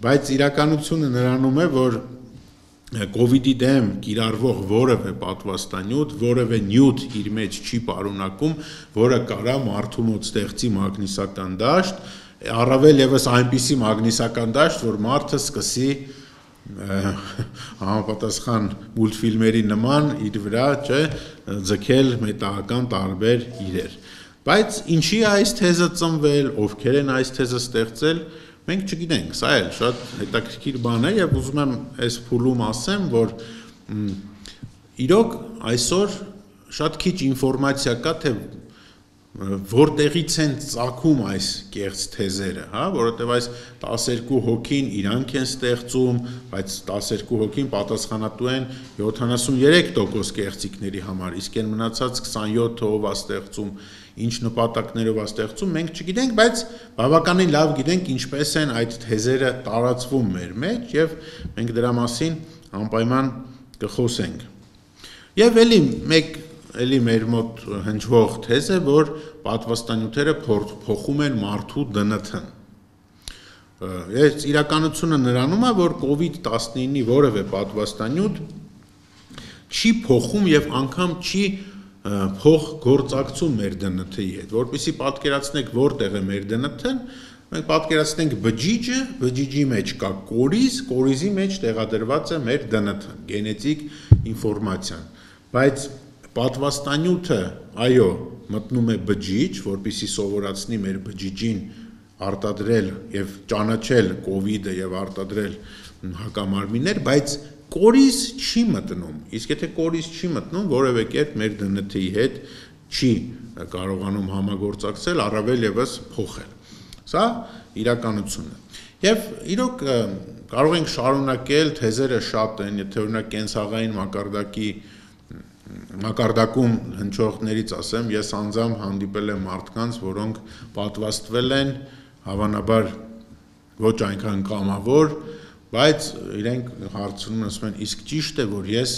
բայց իրականությունը նրանում է, որ COVID-ի դեմ կիրառվող որևէ պատվաստանյութ, որևէ նյութ իր մեջ չի պարունակում, որը կարա մարդու մոտ ստեղծի մագնիսական դաշտ, առավել եւս այնպիսի մագնիսական դաշտ, որ մարդը սկսի համապատասխան մուլտֆիլմերի նման իր վրա ձգել մետաղական տարբեր իրեր։ Բայց ինչի է այս թեզը ծնվել, ովքեր են այս թեզը ստեղծել, մենք չգիտենք, սա էլ շատ հետաքրքիր բան է եւ ուզում եմ այս փուլում ասեմ, որ իրոք այսօր շատ քիչ ինֆորմացիա կա, թե որտեղից են ծագում այս կեղծ թեզերը, հա, որովհետեւ այս 12 հոգին իրանք են ստեղծում, բայց 12 հոգին պատասխանատու են 73% կեղծիքների համար, իսկ այն մնացած 27-ը ով է ստեղծում, ինչ նպատակներով է ստեղծում, մենք չգիտենք, բայց բավականին լավ գիտենք ինչպես են այդ թեզերը տարածվում մեր մեջ եւ մենք դրա մասին անպայման կխոսենք։ Եվ էլի մեր մոտ հնչվող թեզ է, որ պատվաստանյութերը փոխում են մարդու ԴՆԹ-ն։ Այս իրականությունը նրանում է, որ COVID-19-ի որևէ պատվաստանյութ չի փոխում եւ անգամ չի փոխգործակցում մեր ԴՆԹ-ի հետ, որպեսզի պատկերացնեք որտեղ է մեր ԴՆԹ-ն, մենք պատկերացնենք բջիջը, բջիջի մեջ կա կորիզ, կորիզի մեջ տեղադրված է մեր ԴՆԹ-ն, գենետիկ ինֆորմացիան, բայց պատվաստանյութը, այո, մտնում է բջիջ, որպեսզի սովորացնի մեր բջիջին արտադրել եւ ճանաչել COVID-ը եւ արտադրել հակամարմիններ, բայց կորիզ չի մտնում, իսկ եթե կորիզ չի մտնում, որևէ կերպ մեր ԴՆԹ-ի հետ չի կարողանում համագործակցել, առավել եւս փոխել։ Սա իրականությունն է։ Եվ իրոք կարող ենք շարունակել, թեզերը շատ են, եթե օրինակ կենցաղային մակարդակում հնչողներից ասեմ, ես անձամբ հանդիպել եմ մարդկանց, որոնք պատվաստվել են, հավանաբար ոչ այնքան կամավոր, բայց իրենք հարցնում են, ասում են, իսկ ճիշտ է, որ ես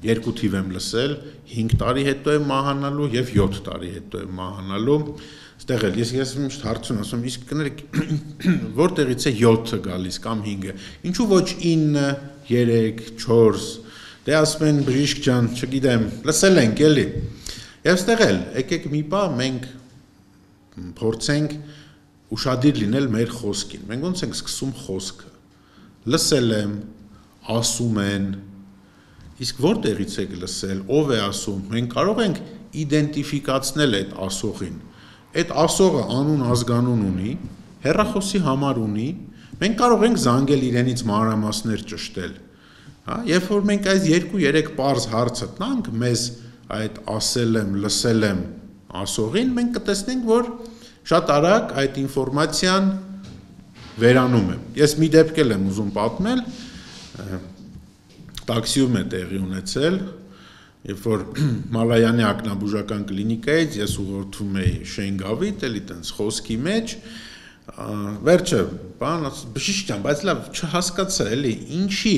2 թիվ եմ լսել, 5 տարի հետո եմ մահանալու եւ 7 տարի հետո եմ մահանալու։ Այստեղ էլ ես միշտ հարցում եմ, ասում իսկ կներեք որտեղից է 7-ը գալիս կամ 5-ը։ Ինչու ոչ 9, 3, 4։ Դե ասում են բժիշկ ջան, չգիտեմ, լսել ենք էլի։ Եվ այստեղ էլ եկեք մի բա մենք փորձենք ուշադիր լինել մեր խոսքին։ Մենք ոնց ենք սկսում խոսքը։ Լսել եմ, ասում են, իսկ որտեղից եք լսել, ով է ասում։ Մենք կարող ենք իդենտիֆիկացնել այդ ասողին։ Այդ ասողը անուն ազգանուն ունի, հեռախոսի համար ունի, մենք կարող ենք զանգել իրենից մանրամասներ ճշտել։ Հա, երբ որ մենք այս 2-3 պարզ հարցը տանք մեզ այդ ասել եմ, լսել եմ ասողին, մենք կտեսնենք, որ շատ արագ այդ ինֆորմացիան վերանում է։ Ես մի դեպք եմ ուզում պատմել, տաքսիում է տեղի ունեցել, երբ որ Մալայանի ակնաբուժական կլինիկայից ես ուղղորդում էի Շենգավիթ, էլի տենց խոսքի մեջ, վերջը, բան, բժիշկ ջան, բայց լավ չհասկացա, էլի, ինչի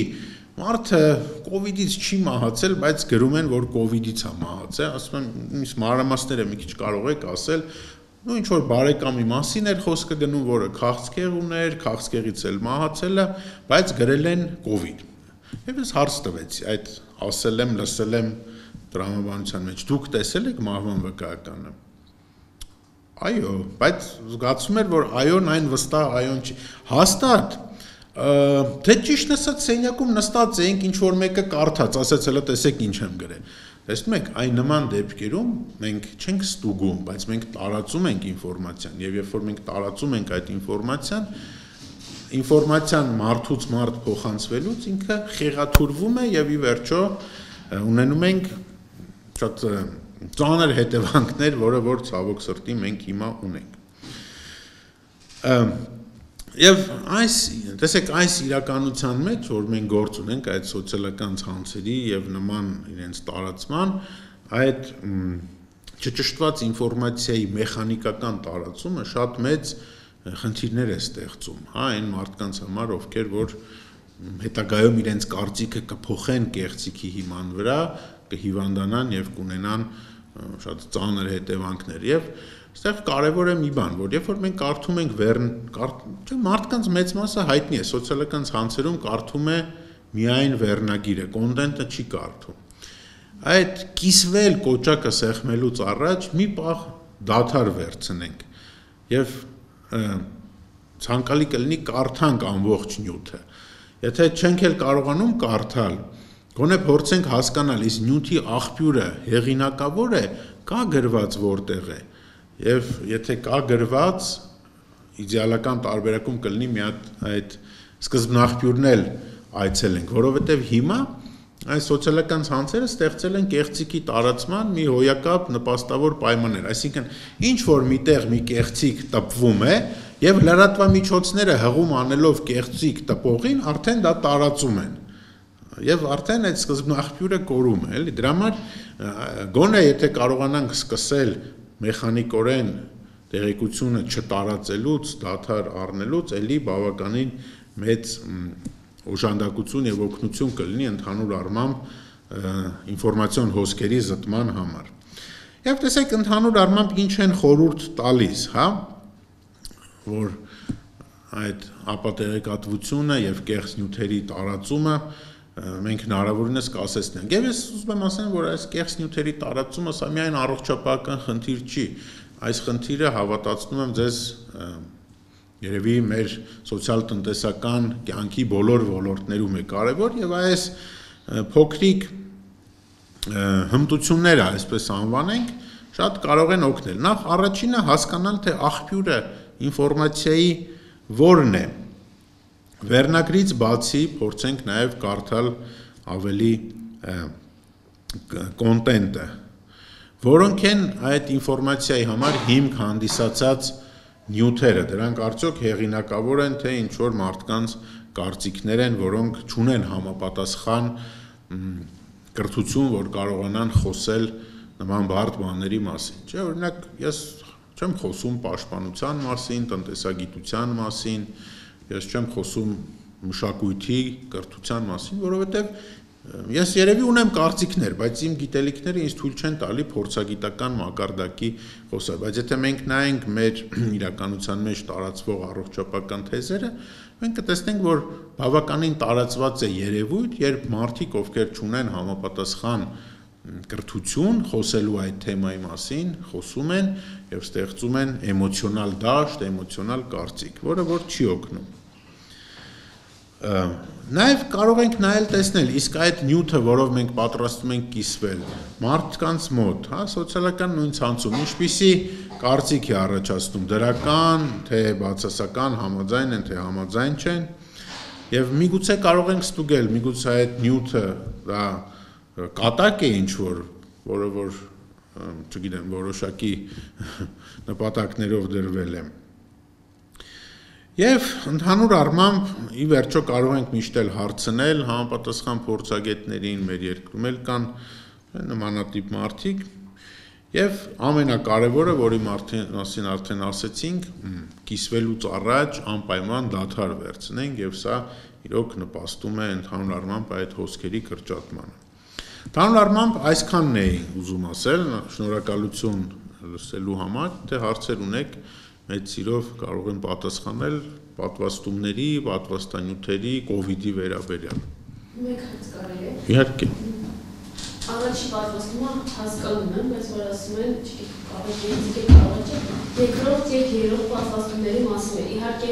մարդը կովիդից չի մահացել, բայց գրում են, որ կովիդից է մահացել, ասում են, իսկ մանրամասները մի քիչ կարող եք ասել, ինչ որ բարեկամի մասին էր խոսքը գնում, որը քաղցկեղ ուներ, քաղցկեղից էլ մահացել է, բայց գրել են կովիդ։ Եվ ես հարց տվեցի, այդ ասել եմ, լսել եմ տրամաբանության մեջ, դուք տեսել եք մահվան վկայականը։ Այո, բայց զգացում էր, որ այոն այն վստահ այոն չի։ Հաստատ թե ճիշտ ասած սենյակում նստած էինք, ինչ որ մեկը կարդաց, ասաց հələ տեսեք ինչ եմ գրել։ Տեսնում եք, այն նման դեպքերում մենք չենք ստուգում, բայց մենք տարածում ենք ինֆորմացիան, եւ երբ որ մենք տարածում ենք այդ ինֆորմացիան մարդուց մարդ փոխանցվելուց ինքը խեղաթուրվում է եւ ի վերջո ունենում ենք շատ ծանր հետևանքներ, որը որ ցավոք սրտի մենք հիմա ունենք։ Եվ տեսեք, այս իրականության մեջ, որ մենք գործ ունենք այդ սոցիալական ցանցերի եւ նման իրենց տարածման, այդ չճշտված ինֆորմացիայի մեխանիկական տարածումը շատ մեծ խնդիրներ է ստեղծում, հա, այն մարդկանց համար, ովքեր որ հետագայում իրենց կարծիքը կփոխեն կեղծիքի հիման վրա, կհիվանդանան եւ կունենան շատ ծանր հետևանքներ եւ այստեղ կարևոր է մի բան, որ երբ որ մենք կարդում ենք մարդկանց մեծ մասը հայտնի է, սոցիալական ցանցերում կարդում է միայն վերնագիրը, կոնտենտը չի կարդում։ Այդ կիսվել կոճակը սեղմելուց առաջ մի պահ դադար վերցնենք եւ ցանկալի կլինի կարդանք ամբողջ նյութը։ Եթե չենք էլ կարողանում կարդալ, գոնե փորձենք հասկանալ, իսկ նյութի աղբյուրը հեղինակավոր է, կա գրված որտեղ է։ Եվ եթե կա գրված, իդեալական տարբերակում կլինի մի հատ այդ սկզբնաղբյուրն էլ այցելենք, որովհետև հիմա այս սոցիալական ցանցերը ստեղծել են կեղծիքի տարածման մի հոյակապ նպաստավոր պայմաններ, այսինքն ինչ որ միտեղ մի կեղծիք տպվում է եւ լրատվամիջոցները հղում անելով կեղծիք տպողին արդեն դա տարածում են։ Եվ արդեն այդ սկզբնաղբյուրը կորում է, էլի, դրա համար գոնե եթե կարողանանք սկսել մեխանիկորեն տեղեկությունը չտարածելուց, դադար առնելուց, էլի բավականին մեծ օժանդակություն եւ օգնություն կլինի ընդհանուր առմամբ ինֆորմացիոն հոսքերի զտման համար։ Եվ տեսեք ընդհանուր առմամբ ինչ են խորհուրդ տալիս, հա, որ այդ ապատեղեկատվությունը եւ կեղծ նյութերի տարածումը մենք հնարավորինս կասեցնենք։ Եվ ես ուզում եմ ասեմ, որ այս կեղծ նյութերի տարածումը սա միայն առողջապահական խնդիր չի, այս խնդիրը հավատացնում եմ ձեզ երևի մեր սոցիալ-տնտեսական կյանքի բոլոր ոլորտներում է կարևոր եւ այս փոքրիկ հմտությունները, այսպես անվանենք, շատ կարող են օգնել։ Նախ առաջինը հասկանալ, թե աղբյուրը ինֆորմացիայի որն է։ Վերնագրից բացի փորձենք նաև կարդալ ավելի կոնտենտը, որոնք են այդ ինֆորմացիայի համար հիմք հանդիսացած նյութերը, դրանք արդյոք հեղինակավոր են, թե ինչ որ մարդկանց կարծիքներ են, որոնք չունեն համապատասխան կրթություն, որ կարողանան խոսել նման բարդ բաների մասին։ Չէ, օրինակ, ես չեմ խոսում պաշտպանության մասին, տնտեսագիտության մասին, ես չեմ խոսում մշակույթի, կրթության մասին, որովհետև ես երևի ունեմ կարծիքներ, բայց իմ գիտելիքները ինձ թույլ չեն տալի փորձագիտական մակարդակի խոսալ, բայց եթե մենք նայենք մեր իրականության մեջ տարածվող առողջապահական թեզերը, մենք կտեսնենք, որ բավականին տարածված է երևույթ, երբ մարդիկ, ովքեր չունեն համապատասխան կրթություն, խոսելու այդ թեմայի մասին, խոսում են եւ ստեղծում են էմոցիոնալ դաշտ, էմոցիոնալ կարծիք, որը որ չի օգնում։ Նաև կարող ենք նայել տեսնել, իսկ այդ նյութը, որով մենք պատրաստում ենք կիսվել, մարդկանց մոտ, սոցիալական նույն ցանցում, ինչպիսի կարծիք է առաջացնում, դրական, թե բացասական, համաձայն են, թե համաձայն չեն, եւ միգուցե կարող ենք ստուգել, միգուցե այդ նյութը դա կատակ է ինչ-որ, որը որ, չգիտեմ, որոշակի նպատակներով դրվել է։ Եվ ընդհանուր առմամբ ի վերջո կարող ենք միշտ էլ հարցնել համապատասխան փորձագետներին, մեր երկրում էլ կան նմանատիպ մարդիկ, եւ ամենակարևորը, որի մասին արդեն ասեցինք, կիսվելուց առաջ անպայման դադար վերցնենք եւ սա իրոք նպաստում է ընդհանուր առմամբ այդ հոսքերի կրճատմանը։ Ընդհանուր առմամբ այսքանն էի ուզում ասել, շնորհակալություն լսելու համար, թե հարցեր ունեք մեծ սիրով կարող եմ պատասխանել պատվաստումների, պատվաստանյութերի, կովիդի վերաբերյալ։ Մեկ հարց կարելի է։ Իհարկե։ Առաջի պատվաստումը հասկանում եմ, բայց որ ասում են, երկրորդ եւ երրորդ պատվաստումների մասին է։ Իհարկե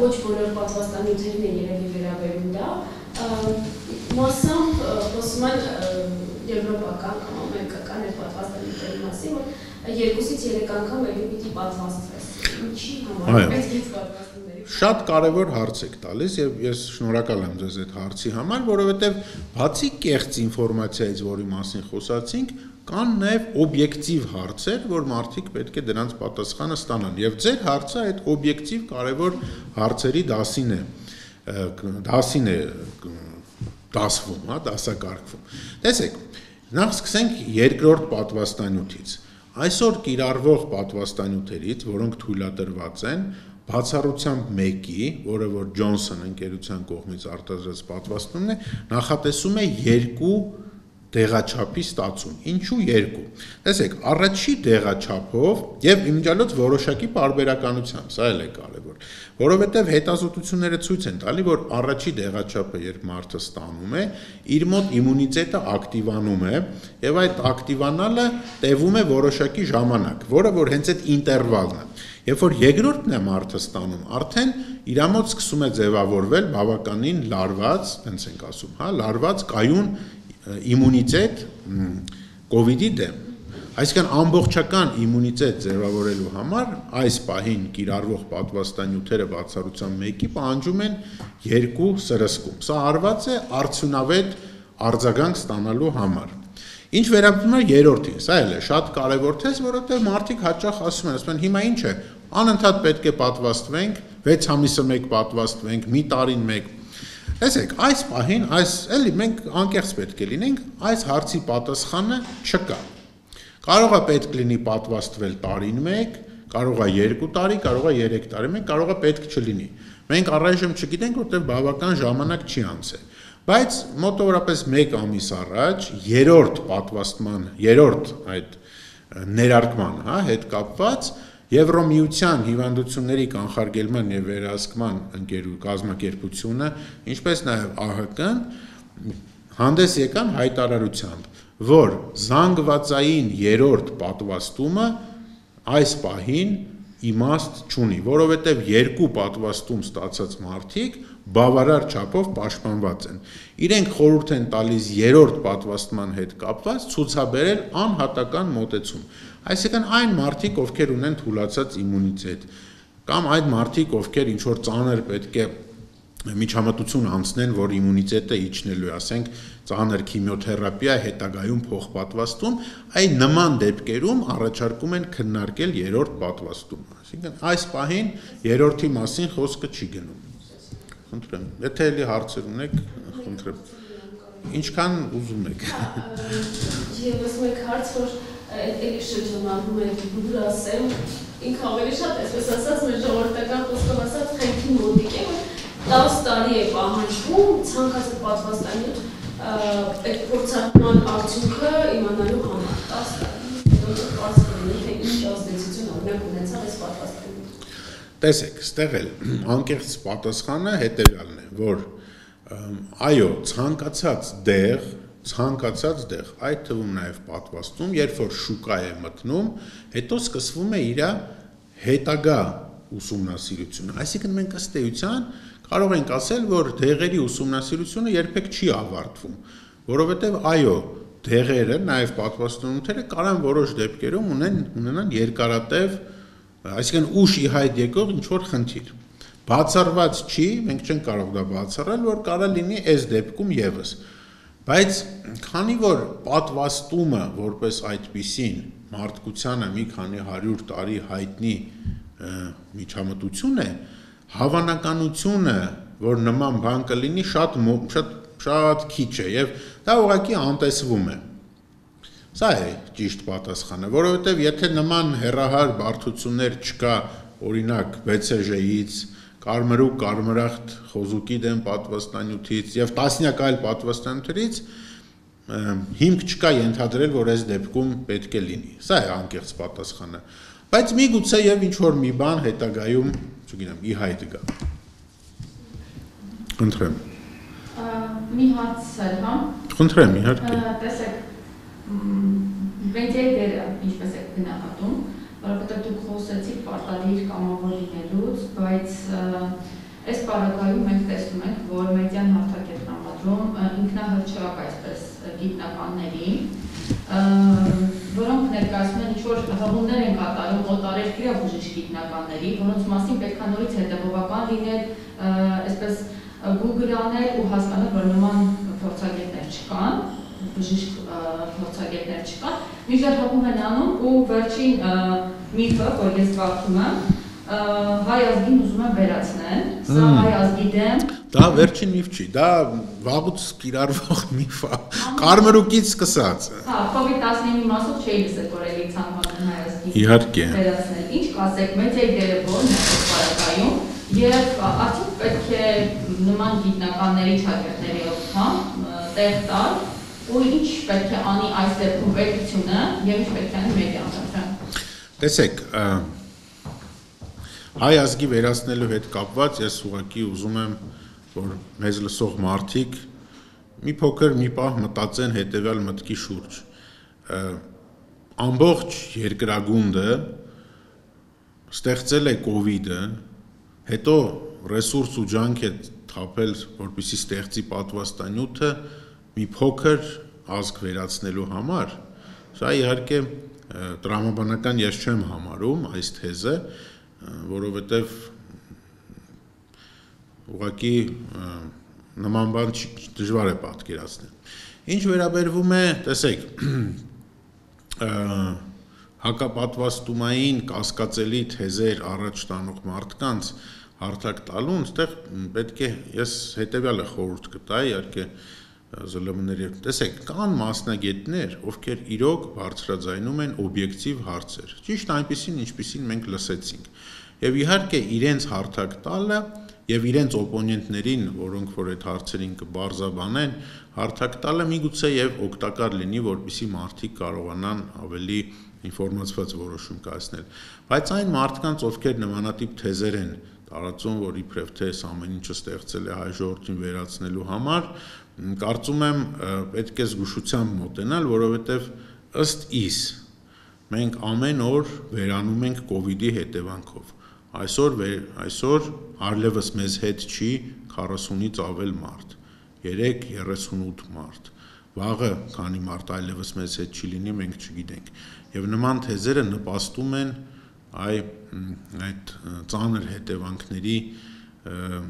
ոչ բոլոր պատվաստանյութերին է երևի վերաբերում դա։ Մասամբ խոսում են եվրոպական կամ ամերիկական այդ պատվաստանյութերի մասին, որ 2-ից 3 անգամ ելի պիտի պատվաստվես։ Ինչի համար պետք է պատվաստումների։ Շատ կարևոր հարց եք տալիս եւ ես շնորհակալ եմ ձեզ այդ հարցի համար, որովհետեւ բացի կեղծ ինֆորմացիայից, որի մասին խոսացինք, կան նաեւ օբյեկտիվ հարցեր, որ մարդիկ պետք է դրանց պատասխանը ստանան եւ ձեր հարցը այդ օբյեկտիվ կարևոր հարցերի դասին է դասվում, դասակարգվում։ Տեսեք, նախ սկսենք երկրորդ պատվաստանյութից։ Այսօր կիրառվող պատվաստանյութերից, որոնք թույլատրված են, բացառությամբ մեկի, որը որ Johnson ընկերության կողմից արտադրած պատվաստումն է, նախատեսում է 2 դեղաչափի ստացում։ Ինչու 2։ Տեսեք, առաջի դեղաչափով եւ իմիջիալոց որոշակի պարբերականությամբ, սա էլ է կարեւոր, որովհետեւ հետազոտությունները ցույց են տալի, որ առաջի դեղաչափը, երբ մարդը ստանում է, իր մոտ իմունիտետը ակտիվանում է եւ այդ ակտիվանալը տևում է որոշակի ժամանակ, որը որ հենց այդ ինտերվալն է։ Երբ որ երկրորդն է մարդը ստանում, արդեն իր մոտ սկսում է ձևավորվել բավականին լարված, տենց ենք ասում, լարված կայուն իմունիտետ կովիդի դեմ։ Այսինքն ամբողջական իմունիտետ ձևավորելու համար այս պահին կիրառվող պատվաստանյութերը բացառությամբ մեկի պահանջում են 2 սրսկում։ Սա արված է արդյունավետ արձագանք ստանալու համար։ Ինչ վերաբերում է երրորդին, սա էլ է շատ կարևոր թեզ, որովհետև մարդիկ հաճախ ասում են, հիմա ինչ է, անընդհատ պետք է պատվաստվենք, 6 ամիսը մեկ պատվաստվենք, մի տարին մեկ։ Տեսեք, այս պահին, էլի մենք անկեղծ պետք է լինենք, այս հարցի պատասխանը չկա։ Կարող է պետք լինի պատվաստվել տարին մեկ, կարող է 2 տարի, կարող է 3 տարի մեկ, կարող է պետք չլինի։ Մենք առայժմ չգիտենք, որտեղ բավական ժամանակ չի անցել։ Բայց մոտավորապես 1 ամիս առաջ, երրորդ պատվաստման, երրորդ այդ ներարկման հետ կապված Եվրոմիության հիվանդությունների կանխարգելման եւ վերահսկման կազմակերպությունը, ինչպես նաեւ ԱՀԿ-ն հանդես եկան հայտարարությամբ, որ զանգվածային երրորդ պատվաստումը այս պահին իմաստ չունի, որովհետև 2 պատվաստում ստացած մարդիկ բավարար չափով պաշտպանված են։ Իրենք խորհուրդ են տալիս երրորդ պատվաստման հետ կապված ցուցաբերել անհատական մոտեցում։ Այսինքն այն մարդիկ, ովքեր ունեն թուլացած իմունիտետ, կամ այդ մարդիկ, ովքեր ինչ-որ ծանր պետք է միջամտություն անցնեն, որ իմունիտետը իջնելու է, ասենք ծանր քիմիոթերապիա, հետագայում փոխպատվաստում, այն նման դեպքերում առաջարկում են քննարկել երրորդ պատվաստումը։ Այսինքն այս պահին երրորդի մասին խոսքը չի գնում։ Խնդրեմ, եթե էլի հարցեր ունեք, խնդրեմ։ Ինչքան ուզում եք։ Եվս մեկ հարց, որ էլի շրջանառվում է դուր ասեմ, ինքը ավելի շատ այսպես ասած մեր ժողովրդական խոսքով ասած խենքի մոտիկ է, որ 10 տարի է պահանջվում ցանկացած պատվաստանյութ այդ փորձարկման արդյունքը իմանալու համար 10 տարի հետո պարզվի թե ինչ ազդեցություն օրինակ ունեցավ այս պատվաստանյութը։ Տեսեք, ստեղ էլ անկեղծ պատասխանը հետևյալն է, որ այո, ցանկացած դեղ, այդ թվում նաև պատվաստում, երբ որ շուկա է մտնում, հետո սկսվում է իր հետագա ուսումնասիրությունը, այսինքն մենք ըստ էության կարող ենք ասել, որ դեղերի ուսումնասիրությունը երբեք չի ավարտվում, որովհետև այո, դեղերը, նաև պատվաստանյութերը կարող որոշ դեպքերում ունենան երկարատև, այսինքն ուշ ի հայտ եկող ինչ-որ խնդիր։ Բացառված չի, մենք չենք կարող դա բացառել, որ կարող լինի այս դեպքում ևս։ Բայց քանի որ պատվաստումը որպես այդպիսին մարդկությանը մի քանի 100 տարի հայտնի միջամտություն է, հավանականությունը, որ նման բան կլինի, շատ քիչ է եւ դա ուղղակի անտեսվում է։ Սա է ճիշտ պատասխանը, որովհետեւ եթե նման հեռահար բարդություններ չկա, օրինակ BCG-ից, կարմրուկ, կարմրախտ խոզուկի դեմ պատվաստանյութից եւ տասնյակ այլ պատվաստանյութերից, հիմք չկա ենթադրել, որ այս դեպքում պետք է լինի։ Սա է անկեղծ պատասխանը։ Բայց միգուցե եւ ինչ որ մի բան հետագայում, չգիտեմ, ի հայտ գա։ Խնդրեմ։ Մի հարց էր, հա։ Խնդրեմ, իհարկե։ Տեսեք, մեդիայի դերը ինչպես է գնահատում, որովհետև դուք խոսեցիք պարտադիր կամավոր լինելուց, բայց այս պարագայում մենք տեսնում ենք, որ մեդիան հարթակ է տրամադրում ինքնահռչակ այսպես գիտնականների, որոնք ներկայացնում են ինչ-որ հղումներ են կատարում օտարերկրյա բժիշկ գիտնականների, որոնց մասին պետք է նորից հետևողական լինել, այսպես Google անել ու հասկանալ, որ նման փորձագետներ չկան, բժիշկ փորձագետներ չկան, մինչդեռ հղում են անում ու վերջին միֆը, որ ես կարդում եմ, հայ ազգին ուզում են վերացնել, սա հայ ազգի դեմ։ Դա վերջին միֆ չի, դա վաղուց կիրառվող միֆ է, կարմրուկից սկսած։ Հա, COVID-19-ի մասով չէի լսել, որ էլի ցանկանում հայ ազգին Իհարկե։ վերացնել։ Ինչ կասեք, մեդիայի դերը որն է այս պարագայում, եւ արդյոք պետք է նման գիտնականների շագերտների օգնությամբ տեղ տալ ու ինչ պետք է անի այս դեպքում պետությունը եւ ինչ պետք է անի մեդիան։ Տեսեք, հայ ազգի վերացնելու հետ կապված ես ուղղակի ուզում եմ, որ մեզ լսող մարդիկ մի փոքր մի պահ մտածեն հետեւյալ մտքի շուրջ։ Ամբողջ երկրագունդը ստեղծել է կոവിഡ്ը, հետո ռեսուրս ու ջանք է թափել, որպեսզի ստեղծի պատվաստանյութը մի փոքր ազգ վերացնելու համար։ Սա իհարկե տրամաբանական ես չեմ համարում այս թեզը, որովհետև ուղղակի նման բան դժվար է պատկերացնել։ Ինչ վերաբերվում է, տեսեք, հակապատվաստումային կասկածելի թեզեր առաջ տանող մարդկանց հարթակ տալուն, այստեղ պետք է ես հետևյալը խորհուրդ կտայի, իհարկե ԶԼՄ-ների, տեսեք, կան մասնագետներ, ովքեր իրոք բարձրաձայնում են օբյեկտիվ հարցեր, ճիշտ այնպիսին, ինչպիսին մենք լսեցինք, եւ իհարկե իրենց հարթակ տալը եւ իրենց օպոնենտներին, որոնք որ այդ հարցերին կբարձաբանեն, հարթակ տալը միգուցե եւ օգտակար լինի, որպեսզի մարդիկ կարողանան ավելի ինֆորմացված որոշում կայացնել, բայց այն մարդկանց, ովքեր նմանատիպ թեզեր են տարածում, որ իբրև թե ամեն ինչը ստեղծել է հայ ժողովրդին վերացնելու համար, կարծում եմ պետք է զգուշությամբ մոտենալ, որովհետև ըստ իս մենք ամեն օր վերանում ենք կոവിഡ്ի հետևանքով։ Այսօր այլևս մեզ հետ չի 40-ից ավել մարդ, 38 մարդ, վաղը քանի մարդ այլևս մեզ հետ չի լինի, մենք չգիտենք։ Եվ նման թեզերը նպաստում են այդ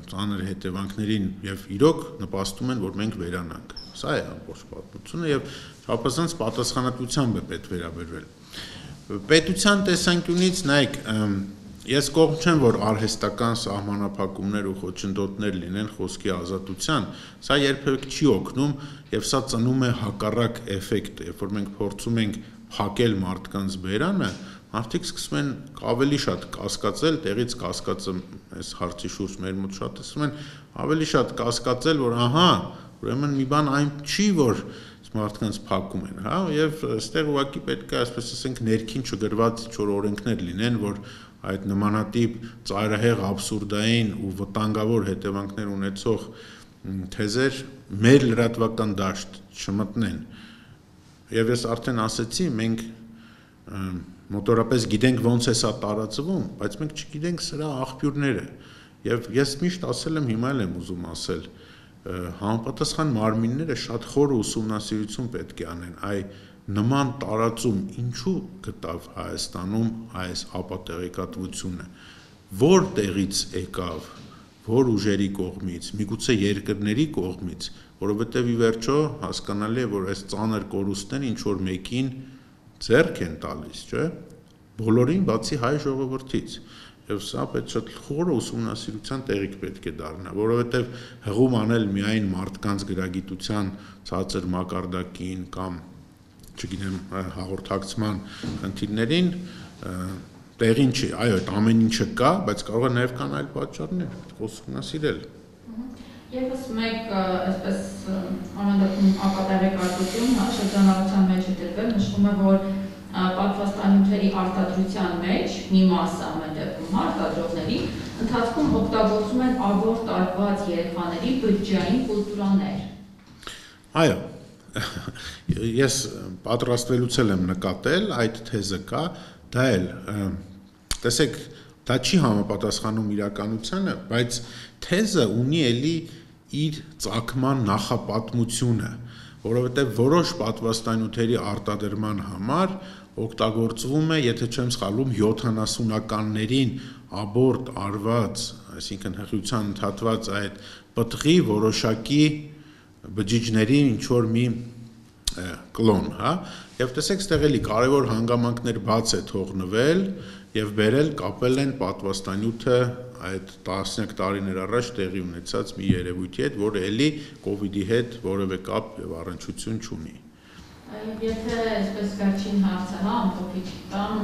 ծանր հետևանքներին եւ իրոք նպաստում են, որ մենք վերանանք։ Սա է ամբողջ պատմությունը եւ չափազանց պատասխանատվությամբ է պետք վերաբերվել։ Պետության տեսանկյունից նայեք, ես կողմ չեմ, որ արհեստական սահմանափակումներ ու խոչընդոտներ լինեն խոսքի ազատության, սա երբեք չի օգնում եւ սա ծնում է հակառակ էֆեկտ, երբ որ մենք փորձում ենք փակել մարդկանց բերանը, մարդիկ սկսում են ավելի շատ կասկածել, տեղից կասկածը այս հարցի շուրջ մեր մոտ շատ ասում են, ավելի շատ կասկածել, որ ահա, ուրեմն մի բան այն չի, որ մարդկանց փակում են, հա, եւ այստեղ ուղղակի պետք է, այսպես ասենք, ներքին չգրված ինչ-որ օրենքներ լինեն, որ այդ նմանատիպ ծայրահեղ աբսուրդային ու վտանգավոր հետևանքներ ունեցող թեզեր մեր լրատվական դաշտ չմտնեն։ Եվ ես արդեն ասեցի, մենք մոտորապես գիտենք ոնց է սա տարածվում, բայց մենք չգիտենք սրա աղբյուրները։ Եվ ես միշտ ասել եմ, հիմա էլ եմ ուզում ասել, համապատասխան մարմինները շատ խոր ուսումնասիրություն պետք է անեն, այ նման տարածում ինչու գտավ Հայաստանում այս ապատեղեկատվությունը, որ տեղից եկավ, որ ուժերի կողմից, միգուցե երկրների կողմից, որովհետև ի վերջո հասկանալի է, որ այս ծանր կորուստները ինչ-որ մեկին ձեռք են տալիս, չէ՞, բոլորին բացի հայ ժողովրդից, եւ սա պետք է շատ խոր ուսումնասիրության տեղիք պետք է դառնա, որովհետև հղում անել միայն մարդկանց գրագիտության ցածր մակարդակին կամ չգիտեմ հաղորդակցման խնդիրներին տեղին չի, այո, այդ ամեն ինչը կա, բայց կարող է նաև կան այլ պատճառներ, ուսումնասիրել։ Եվս մեկ այսպես անհանդեպում ապատեղեկատվություն, շրջանառության մեջ է դրվել, նշվում է, որ պատվաստանյութերի արտադրության մեջ մի մասը ամեն դեպքում արտադրողների ընթացքում օգտագործում են աբորտ արված երեխաների բջջային կուլտուրաներ։ Այո, ես պատրաստվելուց եմ նկատել, այդ թեզը կա, դա էլ, տեսեք, դա չի համապատասխանում իրականությանը, բայց թեզը ունի էլի իր ծագման նախապատմությունը, որովհետև որոշ պատվաստանյութերի արտադրման համար օգտագործվում է, եթե չեմ սխալվում, 70-ականներին աբորտ արված, այսինքն հղիության ընդհատված այդ պտղի որոշակի բջիջների ինչ-որ մի կլոն, հա, եւ տեսեք, ստեղ էլի կարևոր հանգամանքներ բաց է թողնվել եւ բերել կապել են պատվաստանյութը այդ տասնյակ տարիներ առաջ տեղի ունեցած մի երևույթի հետ, որը էլի կոവിഡ്ի հետ որևէ կապ եւ առնչություն չունի։ Եթե այսպես վերջին հարցը, հա, ամփոփիչ տամ,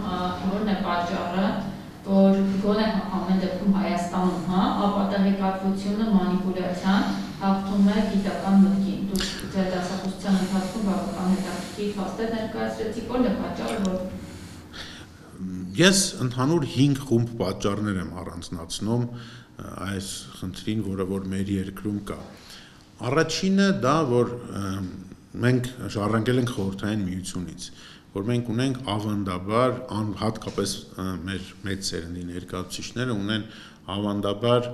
որն է պատճառը, որ գոնե ամեն դեպքում Հայաստանում, հա, ապատեղեկատվությունը մանիպուլյացիան հաղթում է գիտական մտքին։ Դուք ձեր դասախոսության ընթացքում բավական հետաքրքիր փաստեր ներկայացրեցիք, որն է պատճառը, որ Ես ընդհանուր 5 խումբ պատճառներ եմ առանձնացնում այս խնդրին, որը որ մեր երկրում կա։ Առաջինը դա, որ մենք ժառանգել ենք խորհրդային միությունից, որ մենք ունենք ավանդաբար, հատկապես մեր մեծ սերնդի ներկայացուցիչները ունեն ավանդաբար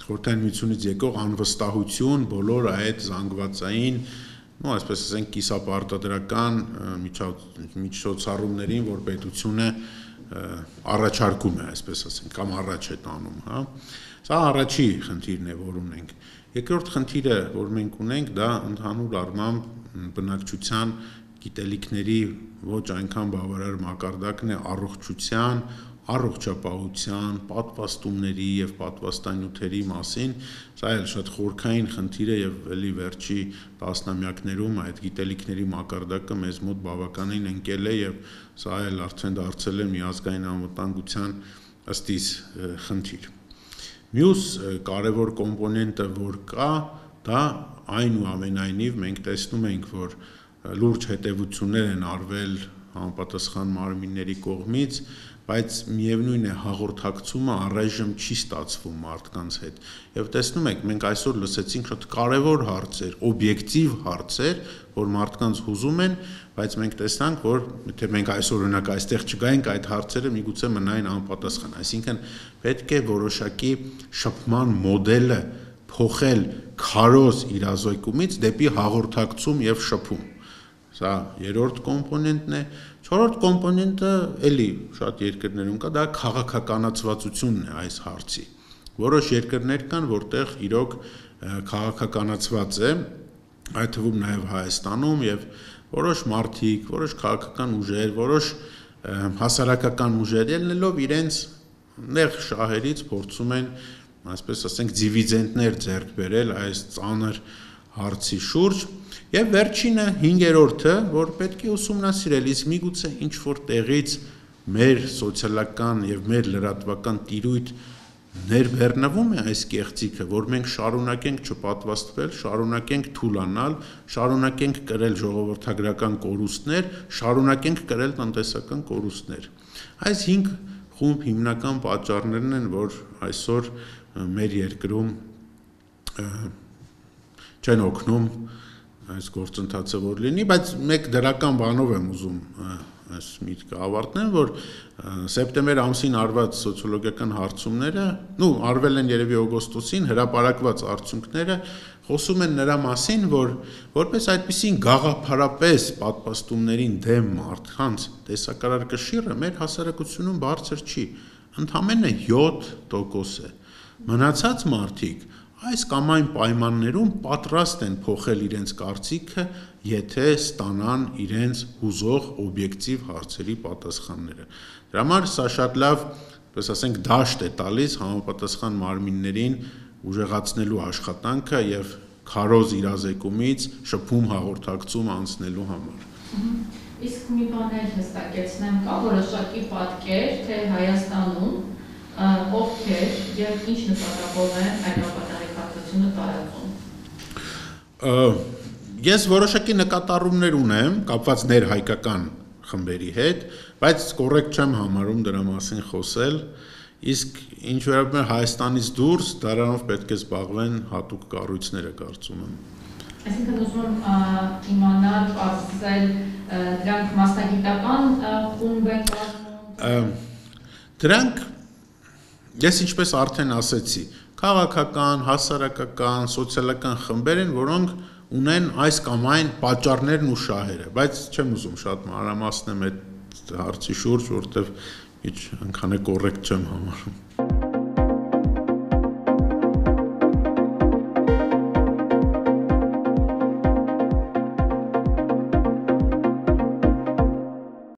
խորհրդային միությունից եկող անվստահություն բոլոր այդ զանգվածային, այսպես ասենք, կիսապարտադրական միջոցառումներին, որ պետությունը առաջարկում է, այսպես ասենք, կամ առաջ է տանում, հա։ Սա առաջի խնդիրն է, որ ունենք։ Երկրորդ խնդիրը, որ մենք ունենք, դա ընդհանուր առմամբ բնակչության գիտելիքների ոչ այնքան բավարար մակարդակն է առողջության, առողջապահության, պատվաստումների եւ պատվաստանյութերի մասին, սա էլ շատ խորքային խնդիր է եւ էլի վերջի տասնամյակներում այդ գիտելիքների մակարդակը մեզ մոտ բավականին ընկել է եւ սա էլ արդեն դարձել է միազգային անվտանգության ըստ իս խնդիր։ Մյուս կարևոր կոմպոնենտը, որ կա, դա այնուամենայնիվ մենք տեսնում ենք, որ լուրջ հետևություններ են արվել համապատասխան մարմինների կողմից, բայց միևնույն է հաղորդակցումը առայժմ չի ստացվում մարդկանց հետ։ Եվ տեսնում եք, մենք այսօր լսեցինք շատ կարևոր հարցեր, օբյեկտիվ հարցեր, որ մարդկանց հուզում են, բայց մենք տեսանք, որ եթե մենք այսօր օրինակ այստեղ չգայինք, այդ հարցերը միգուցե մնային անպատասխան։ Այսինքն պետք է որոշակի շփման մոդելը փոխել քարոզ իրազեկումից դեպի հաղորդակցում եւ շփում։ Սա երրորդ կոմպոնենտն է։ Չորրորդ կոմպոնենտը էլի շատ երկրներում կա, դա քաղաքականացվածությունն է այս հարցի։ Որոշ երկրներ կան, որտեղ իրոք քաղաքականացված է, այդ թվում նաև Հայաստանում եւ որոշ մարդիկ, որոշ քաղաքական ուժեր, որոշ հասարակական ուժեր ելնելով իրենց նեղ շահերից փորձում են, այսպես ասենք, դիվիդենտներ ձեռք բերել այս ծանր հարցի շուրջ։ Եվ վերջինը 5-րդը, որ պետք է ուսումնասիրել, իսկ միգուցե ինչ-որ տեղից մեր սոցիալական եւ մեր լրատվական տիրույթ ներբեռնվում է այս կեղծիքը, որ մենք շարունակենք չպատվաստվել, շարունակենք թուլանալ, շարունակենք կրել ժողովրդագրական կորուստներ, շարունակենք կրել տնտեսական կորուստներ։ Այս 5 խումբ հիմնական պատճառներն են, որ այսօր մեր երկրում չեն օգնում այս գործընթացը որ լինի, բայց մեկ դրական բանով եմ ուզում այս միտքը ավարտնեմ, որ սեպտեմբեր ամսին արված սոցիոլոգիական հարցումները, արվել են երևի օգոստոսին, հրապարակված արդյունքները խոսում են նրա մասին, որ որպես այդպիսին գաղափարապես պատվաստումներին դեմ մարդկանց տեսակարար կշիռը մեր հասարակությունում բարձր չի, ընդամենը 7% է։ Մնացած մարդիկ այս կամ այն պայմաններում պատրաստ են փոխել իրենց կարծիքը, եթե ստանան իրենց հուզող օբյեկտիվ հարցերի պատասխանները։ Դրա համար սա շատ լավ, պես ասենք, դաշտ է տալիս համապատասխան մարմիններին ուժեղացնելու աշխատանքը եւ քարոզ իրազեկումից շփում հաղորդակցում անցնելու համար։ Իսկ մի բան էլ հստակեցնեմ, կա որոշակի պատկեր, թե Հայաստանում ովքեր եւ ինչ նպատակով են այդ ապատարեկատվությունը տարածում։ Ես որոշակի նկատառումներ ունեմ կապված ներհայկական խմբերի հետ, բայց կոռեկտ չեմ համարում դրա մասին խոսել, իսկ ինչ վերաբերում է Հայաստանից դուրս, դրանով պետք է զբաղվեն հատուկ կառույցները, կարծում եմ։ Այսինքն ուզում եմ իմանալ, ասել, դրանք մասնագիտական խումբ են կազմում։ Դրանք ես ինչպես արդեն ասեցի, քաղաքական, հասարակական, սոցիալական խմբեր են, որոնք ունեն այս կամ այն պատճառներն ու շահերը, բայց չեմ ուզում շատ մանրամասնեմ այդ հարցի շուրջ, որտեվ ընդհանրապես կոռեկտ չեմ համարում։